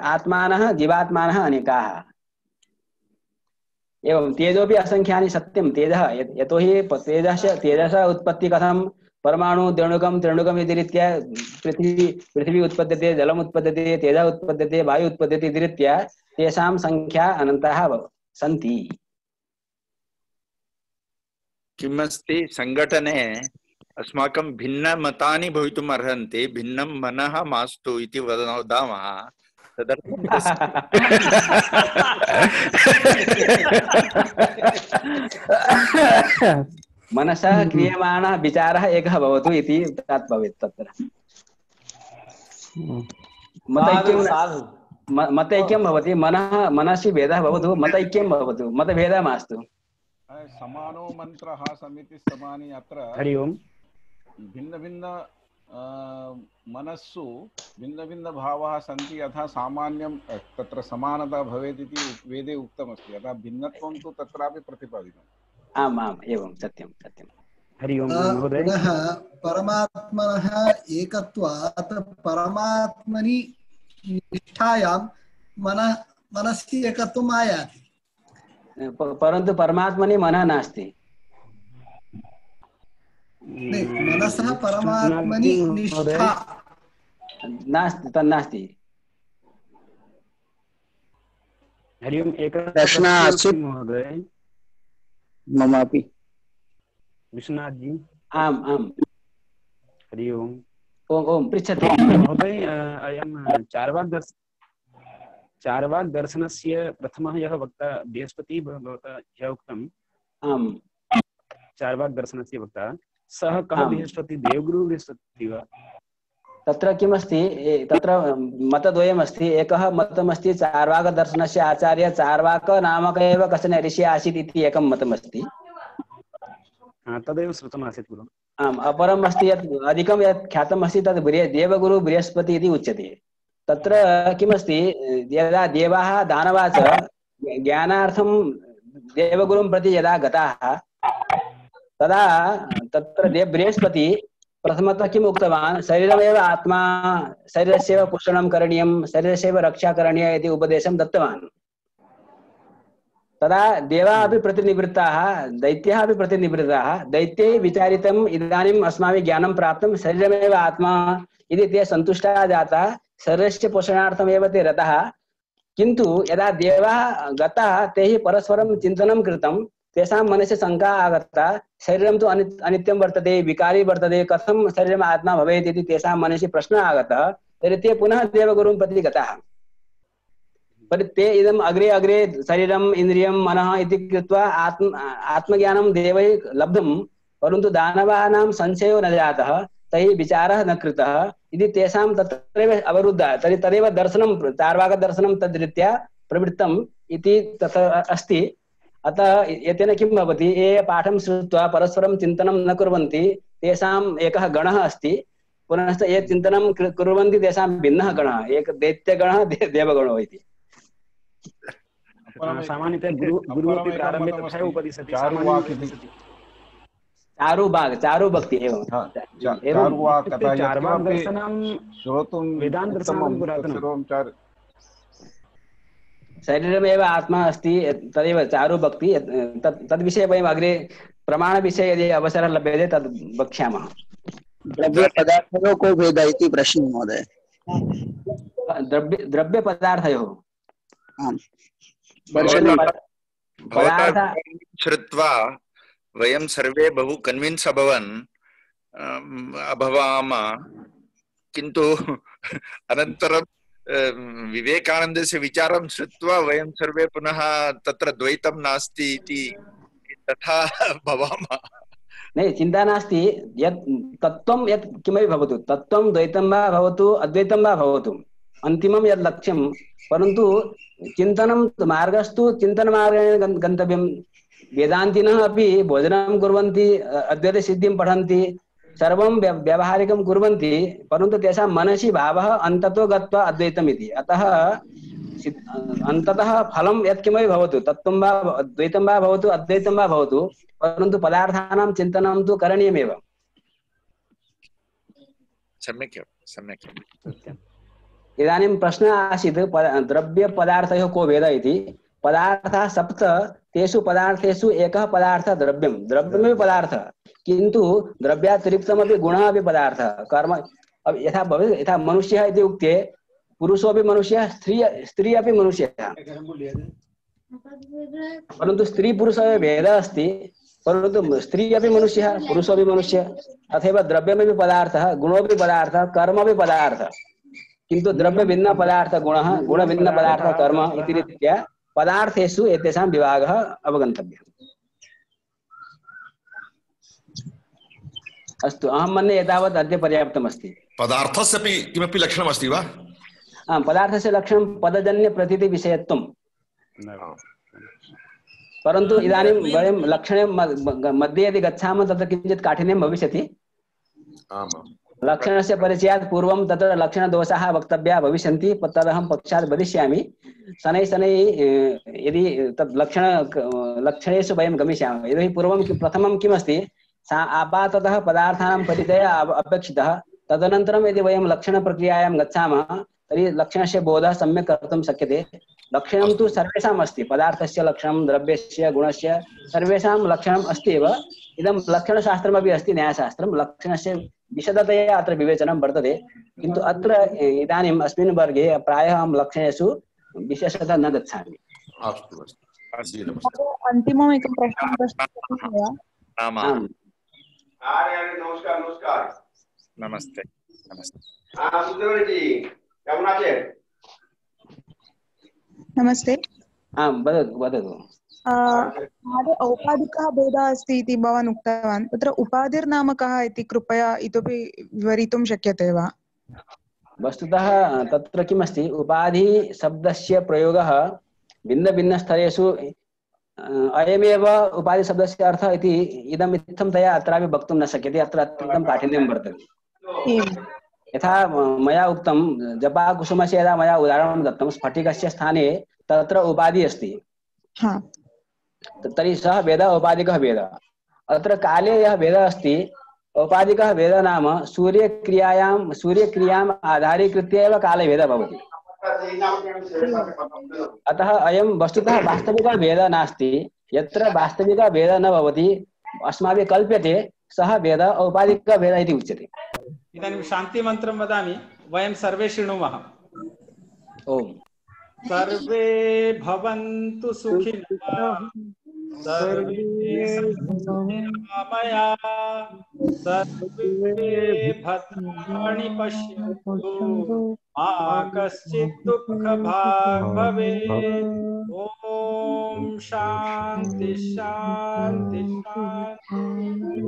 आत्मानः जीवात्मानः अनेकाः। एवं तेजोपि असङ्ख्यानि। सत्यं, तेजः, यतोहि तेजस्य तेजसः उत्पत्ति कथं, परमाणु द्रणुकं त्रणुकम् इति रीत्या पृथ्वी पृथिवी उत्पद्यते, जलम् उत्पद्यते, तेजः उत्पद्यते, वायु उत्पद्यते इति रीत्या तेषां संख्या अनन्ताः सन्ति। किमस्ति, सङ्घटने अस्माकं भिन्नमतानि भवितुम् अर्हन्ति, भिन्नं मनः मास्तु इति वदामः। तदर्थं मनसः क्रियमाणः विचारः एकः भवतु इति तत् भवेत्। तत्र मतैक्यं भवति, मनः मनसि भेदः भवतु, मतैक्यं भवतु, मतभेदः मास्तु। समानो मन्त्रः समिति समानि। अत्र हरि ओम्। भिन्न भिन्न मनस्सु भिन्नभिन्नभावाः सन्ति यथा सामान्यं तत्र समानता भवेत् इति वेदे उक्तमस्ति अतः भिन्नत्वं तु तत्रापि प्रतिपादितम्। आम् आम् एवं सत्यं सत्यं। हरि ओम् महोदय। पुनः परमात्मनः एकत्वात् परमात्मनि निष्ठायां मनः मनसि एकत्वम् आयाति, परन्तु परमात्मनि मनः नास्ति। मनसः परमात्मनि निष्ठा नास्ति, तन्नास्ति। हरि ओम्। एकः प्रश्नः आसीत् महोदय ममापि। विश्वनाथ जी। आम् आम्। हरि ओम्। ओम ओम पृच्छतु महोदय। अयं चार्वाक दर्श चार्वाक दर्शनस्य प्रथमः यः वक्ता बृहस्पतिः भवता ह्यः उक्तम्। आम्। चार्वाक दर्शनस्य वक्ता सः कः बृहस्पति, देवगुरु बृहस्पति वा? तत्र किमस्ति, तत्र मतद्वयमस्ति। एकः मतमस्ति चार्वाकदर्शनस्य आचार्य चार्वाक नामक एव कश्चन ऋषिः आसीत् इति एकं मतमस्ति। तदेव श्रुतमासीत् गुरु। आम्। अपरम् अस्ति यत् अधिकं यत् ख्यातम् अस्ति तद् देवगुरु बृहस्पति इति उच्यते। तत्र किमस्ति, यदा देवाः दानवाः च ज्ञानार्थं देवगुरुं प्रति यदा गताः तदा तत्र देव बृहस्पति प्रथमतः किम् उक्तवान्, शरीरमेव आत्मा, शरीरस्यैव पोषणं करणीयं, शरीरस्यैव रक्षा करणीया इति उपदेशं दत्तवान्। तदा देवाः अपि प्रतिनिवृत्ताः, दैत्याः अपि प्रतिनिवृत्ताः। दैत्यैः विचारितम् इदानीम् अस्माभिः ज्ञानं प्राप्तं, शरीरमेव आत्मा इति ते सन्तुष्टाः जाताः, शरीरस्य पोषणार्थमेव ते रताः। किन्तु यदा देवाः गताः तैः परस्परं चिन्तनं कृतं, तेषां मनसि शङ्का आगता, शरीरं तु अनि अनित्यं वर्तते, विकारी वर्तते, कथं शरीरम् आत्मा भवेत् इति तेषां मनसि प्रश्नः आगतः। तर्हि ते पुनः देवगुरुं प्रति गताः। पर ते इदम् अग्रे अग्रे शरीरम् इन्द्रियं मनः इति कृत्वा आत्म आत्मज्ञानं देवैः लब्धं, परन्तु दानवानां संशयो न जातः, तैः विचारः न कृतः इति तेषां तत्रैव अवरुद्धः। तर्हि तदेव दर्शनं, चार्वाकदर्शनं तद्रीत्या प्रवृत्तम् इति तथा अस्ति। अतः एतेन किं भवति, ये पाठं श्रुत्वा परस्परं चिन्तनं न कुर्वन्ति तेषाम् एकः गणः अस्ति, पुनश्च ये चिन्तनं कुर्वन्ति तेषां भिन्नः गणः, एक दैत्यगणः देवगणो इति। सामान्यतः गुरु गुरुरपि प्रारम्भे तथैव उपदिशति। चारुबाग चारुभक्ति एवं चार्वाक दर्शनं श्रोतुं वेदान्त दर्शनं पुरातनं। शरीरमेव आत्मा अस्ति, तदेव चारुभक्ति। तद् तद्विषये वयम् अग्रे प्रमाणविषये यदि अवसरः लभ्यते तद् वक्ष्यामः। द्रव्यपदार्थयोः को भेदः इति प्रश्नः महोदय। द्रव्य द्रव्यपदार्थयोः पदार्थ श्रुत्वा वयं सर्वे बहु कन्विन्स् अभवन् अभवाम, किन्तु अनन्तरं विवेकानन्दस्य विचारं श्रुत्वा वयं सर्वे पुनः तत्र द्वैतं नास्ति इति तथा भवामः। नहीं, चिंता नास्ति। यत् तत्त्वं यत् किमपि भवतु, तत्त्वं द्वैतं वा भवतु अद्वैतं वा भवतु, अन्तिमं यत् लक्ष्यं, परन्तु चिन्तनं मार्गस्तु चिन्तनमार्गेण गन्तव्यं। वेदान्तिनः अपि भोजनं कुर्वन्ति, अद्वैतसिद्धिं पठन्ति, सर्वं व्यावहारिकं कुर्वन्ति, परन्तु तेषां मनसि भावः अन्ततो गत्वा अद्वैतम् इति। अतः अन्ततः फलं यत्किमपि भवतु, तत्त्वं वा द्वैतं वा भवतु अद्वैतं वा भवतु, परन्तु पदार्थानां चिन्तनं तु करणीयमेव। सम्यक् सम्यक्। इदानीं प्रश्नः आसीत् द्रव्यपदार्थयोः को भेदः इति। पदार्थाः सप्त, तेषु पदार्थेषु एकः पदार्थः द्रव्यं, द्रव्यमेव पदार्थः, किन्तु द्रव्यातिरिक्तमपि गुणः अपि पदार्थः। कर्म यथा भवेत्, यथा मनुष्यः इति उक्ते पुरुषोऽपि मनुष्यः, स्त्री स्त्री अपि मनुष्यः, परन्तु स्त्री पुरुषयोः भेदः अस्ति, परन्तु स्त्री अपि मनुष्यः पुरुषोऽपि मनुष्यः। तथैव द्रव्यमपि पदार्थः, गुणोऽपि पदार्थः, कर्मपि पदार्थः, किन्तु द्रव्य भिन्न पदार्थ गुणः, गुण भिन्न पदार्थ कर्म इति रीत्या पदार्थेषु एतेषां विभागः अवगन्तव्यः। अस्तु, अहं मन्ये एतावत् अद्य पर्याप्तमस्ति। पदार्थस्यपि किमपि लक्षणमस्ति वा? आम्, पदार्थस्य लक्षणं पदजन्य प्रतीति विषयत्वं, परन्तु इदानीं वयं लक्षणे मध्ये यदि गच्छामः तत्र किञ्चित् काठिन्यं भविष्यति। आमाम्। लक्षणस्य परिचयात् पूर्वं तत्र लक्षणदोषाः वक्तव्याः भविष्यन्ति तदहं पक्षात् वदिष्यामि शनैः शनैः यदि तद् लक्षण लक्षणेषु वयं गमिष्यामः यतोहि पूर्वं प्रथमं किमस्ति सा आपाततः पदार्थानां परिचयः अपेक्षितः तदनन्तरं यदि वयं लक्षणप्रक्रियायां गच्छामः तर्हि लक्षणस्य बोधः सम्यक् कर्तुं शक्यते लक्षणं तु सर्वेषाम् अस्ति पदार्थस्य लक्षणं द्रव्यस्य गुणस्य सर्वेषां लक्षणम् अस्ति एव इदं लक्षणशास्त्रमपि अस्ति न्यायशास्त्रं लक्षणस्य विशदतया अत्र विवेचनं वर्तते किन्तु अत्र इदानीम् अस्मिन् वर्गे प्रायः अहं लक्षणेषु विशेषतः न गच्छामि अस्तु अस्तु अन्तिमम् एकं प्रश्नं प्रष्टुं वा आम् नमस्कार नमस्कार नमस्ते नमस्ते हाँ सुंदर जी केमन आছেন नमस्ते आं वदतु वदतु महोदय औपाधिकः भेदः अस्ति इति भवान् उक्तवान् तत्र उपाधिर्नाम कः इति कृपया इतोपि विवरितुं शक्यते वा वस्तुतः तत्र किमस्ति उपाधि शब्दस्य प्रयोगः भिन्नभिन्नस्थलेषु अयमेव उपाधि शब्दस्य अर्थः इति इदम् इत्थंतया अत्रापि वक्तुं न शक्यते अत्र अत्यन्तं काठिन्यं वर्तते यथा मया उक्तं जपाकुसुमस्य यदा मया उदाहरणं दत्तं स्फटिकस्य स्थाने तत्र उपाधि अस्ति तर्हि सः वेदः औपाधिकः वेदः अत्र काले यः वेदः अस्ति औपाधिकः वेदः नाम सूर्यक्रियायां सूर्यक्रियाम् आधारीकृत्य एव कालभेदः भवति अतः अयं वस्तुतः वास्तविकः वेदः नास्ति यत्र वास्तविकः वेदः न भवति अस्माभिः कल्प्यते सः वेदः औपाधिकः वेदः इति उच्यते इदानीं शान्तिमन्त्रं वदामि वयं सर्वे शृणुमः ओम सर्वे भवन्तु सुखिनः सर्वे सन्तु सर्वे भद्राणि पश्यन्तु मा कश्चित् दुःखभाग् भवेत् ओम शान्ति शान्ति शान्ति।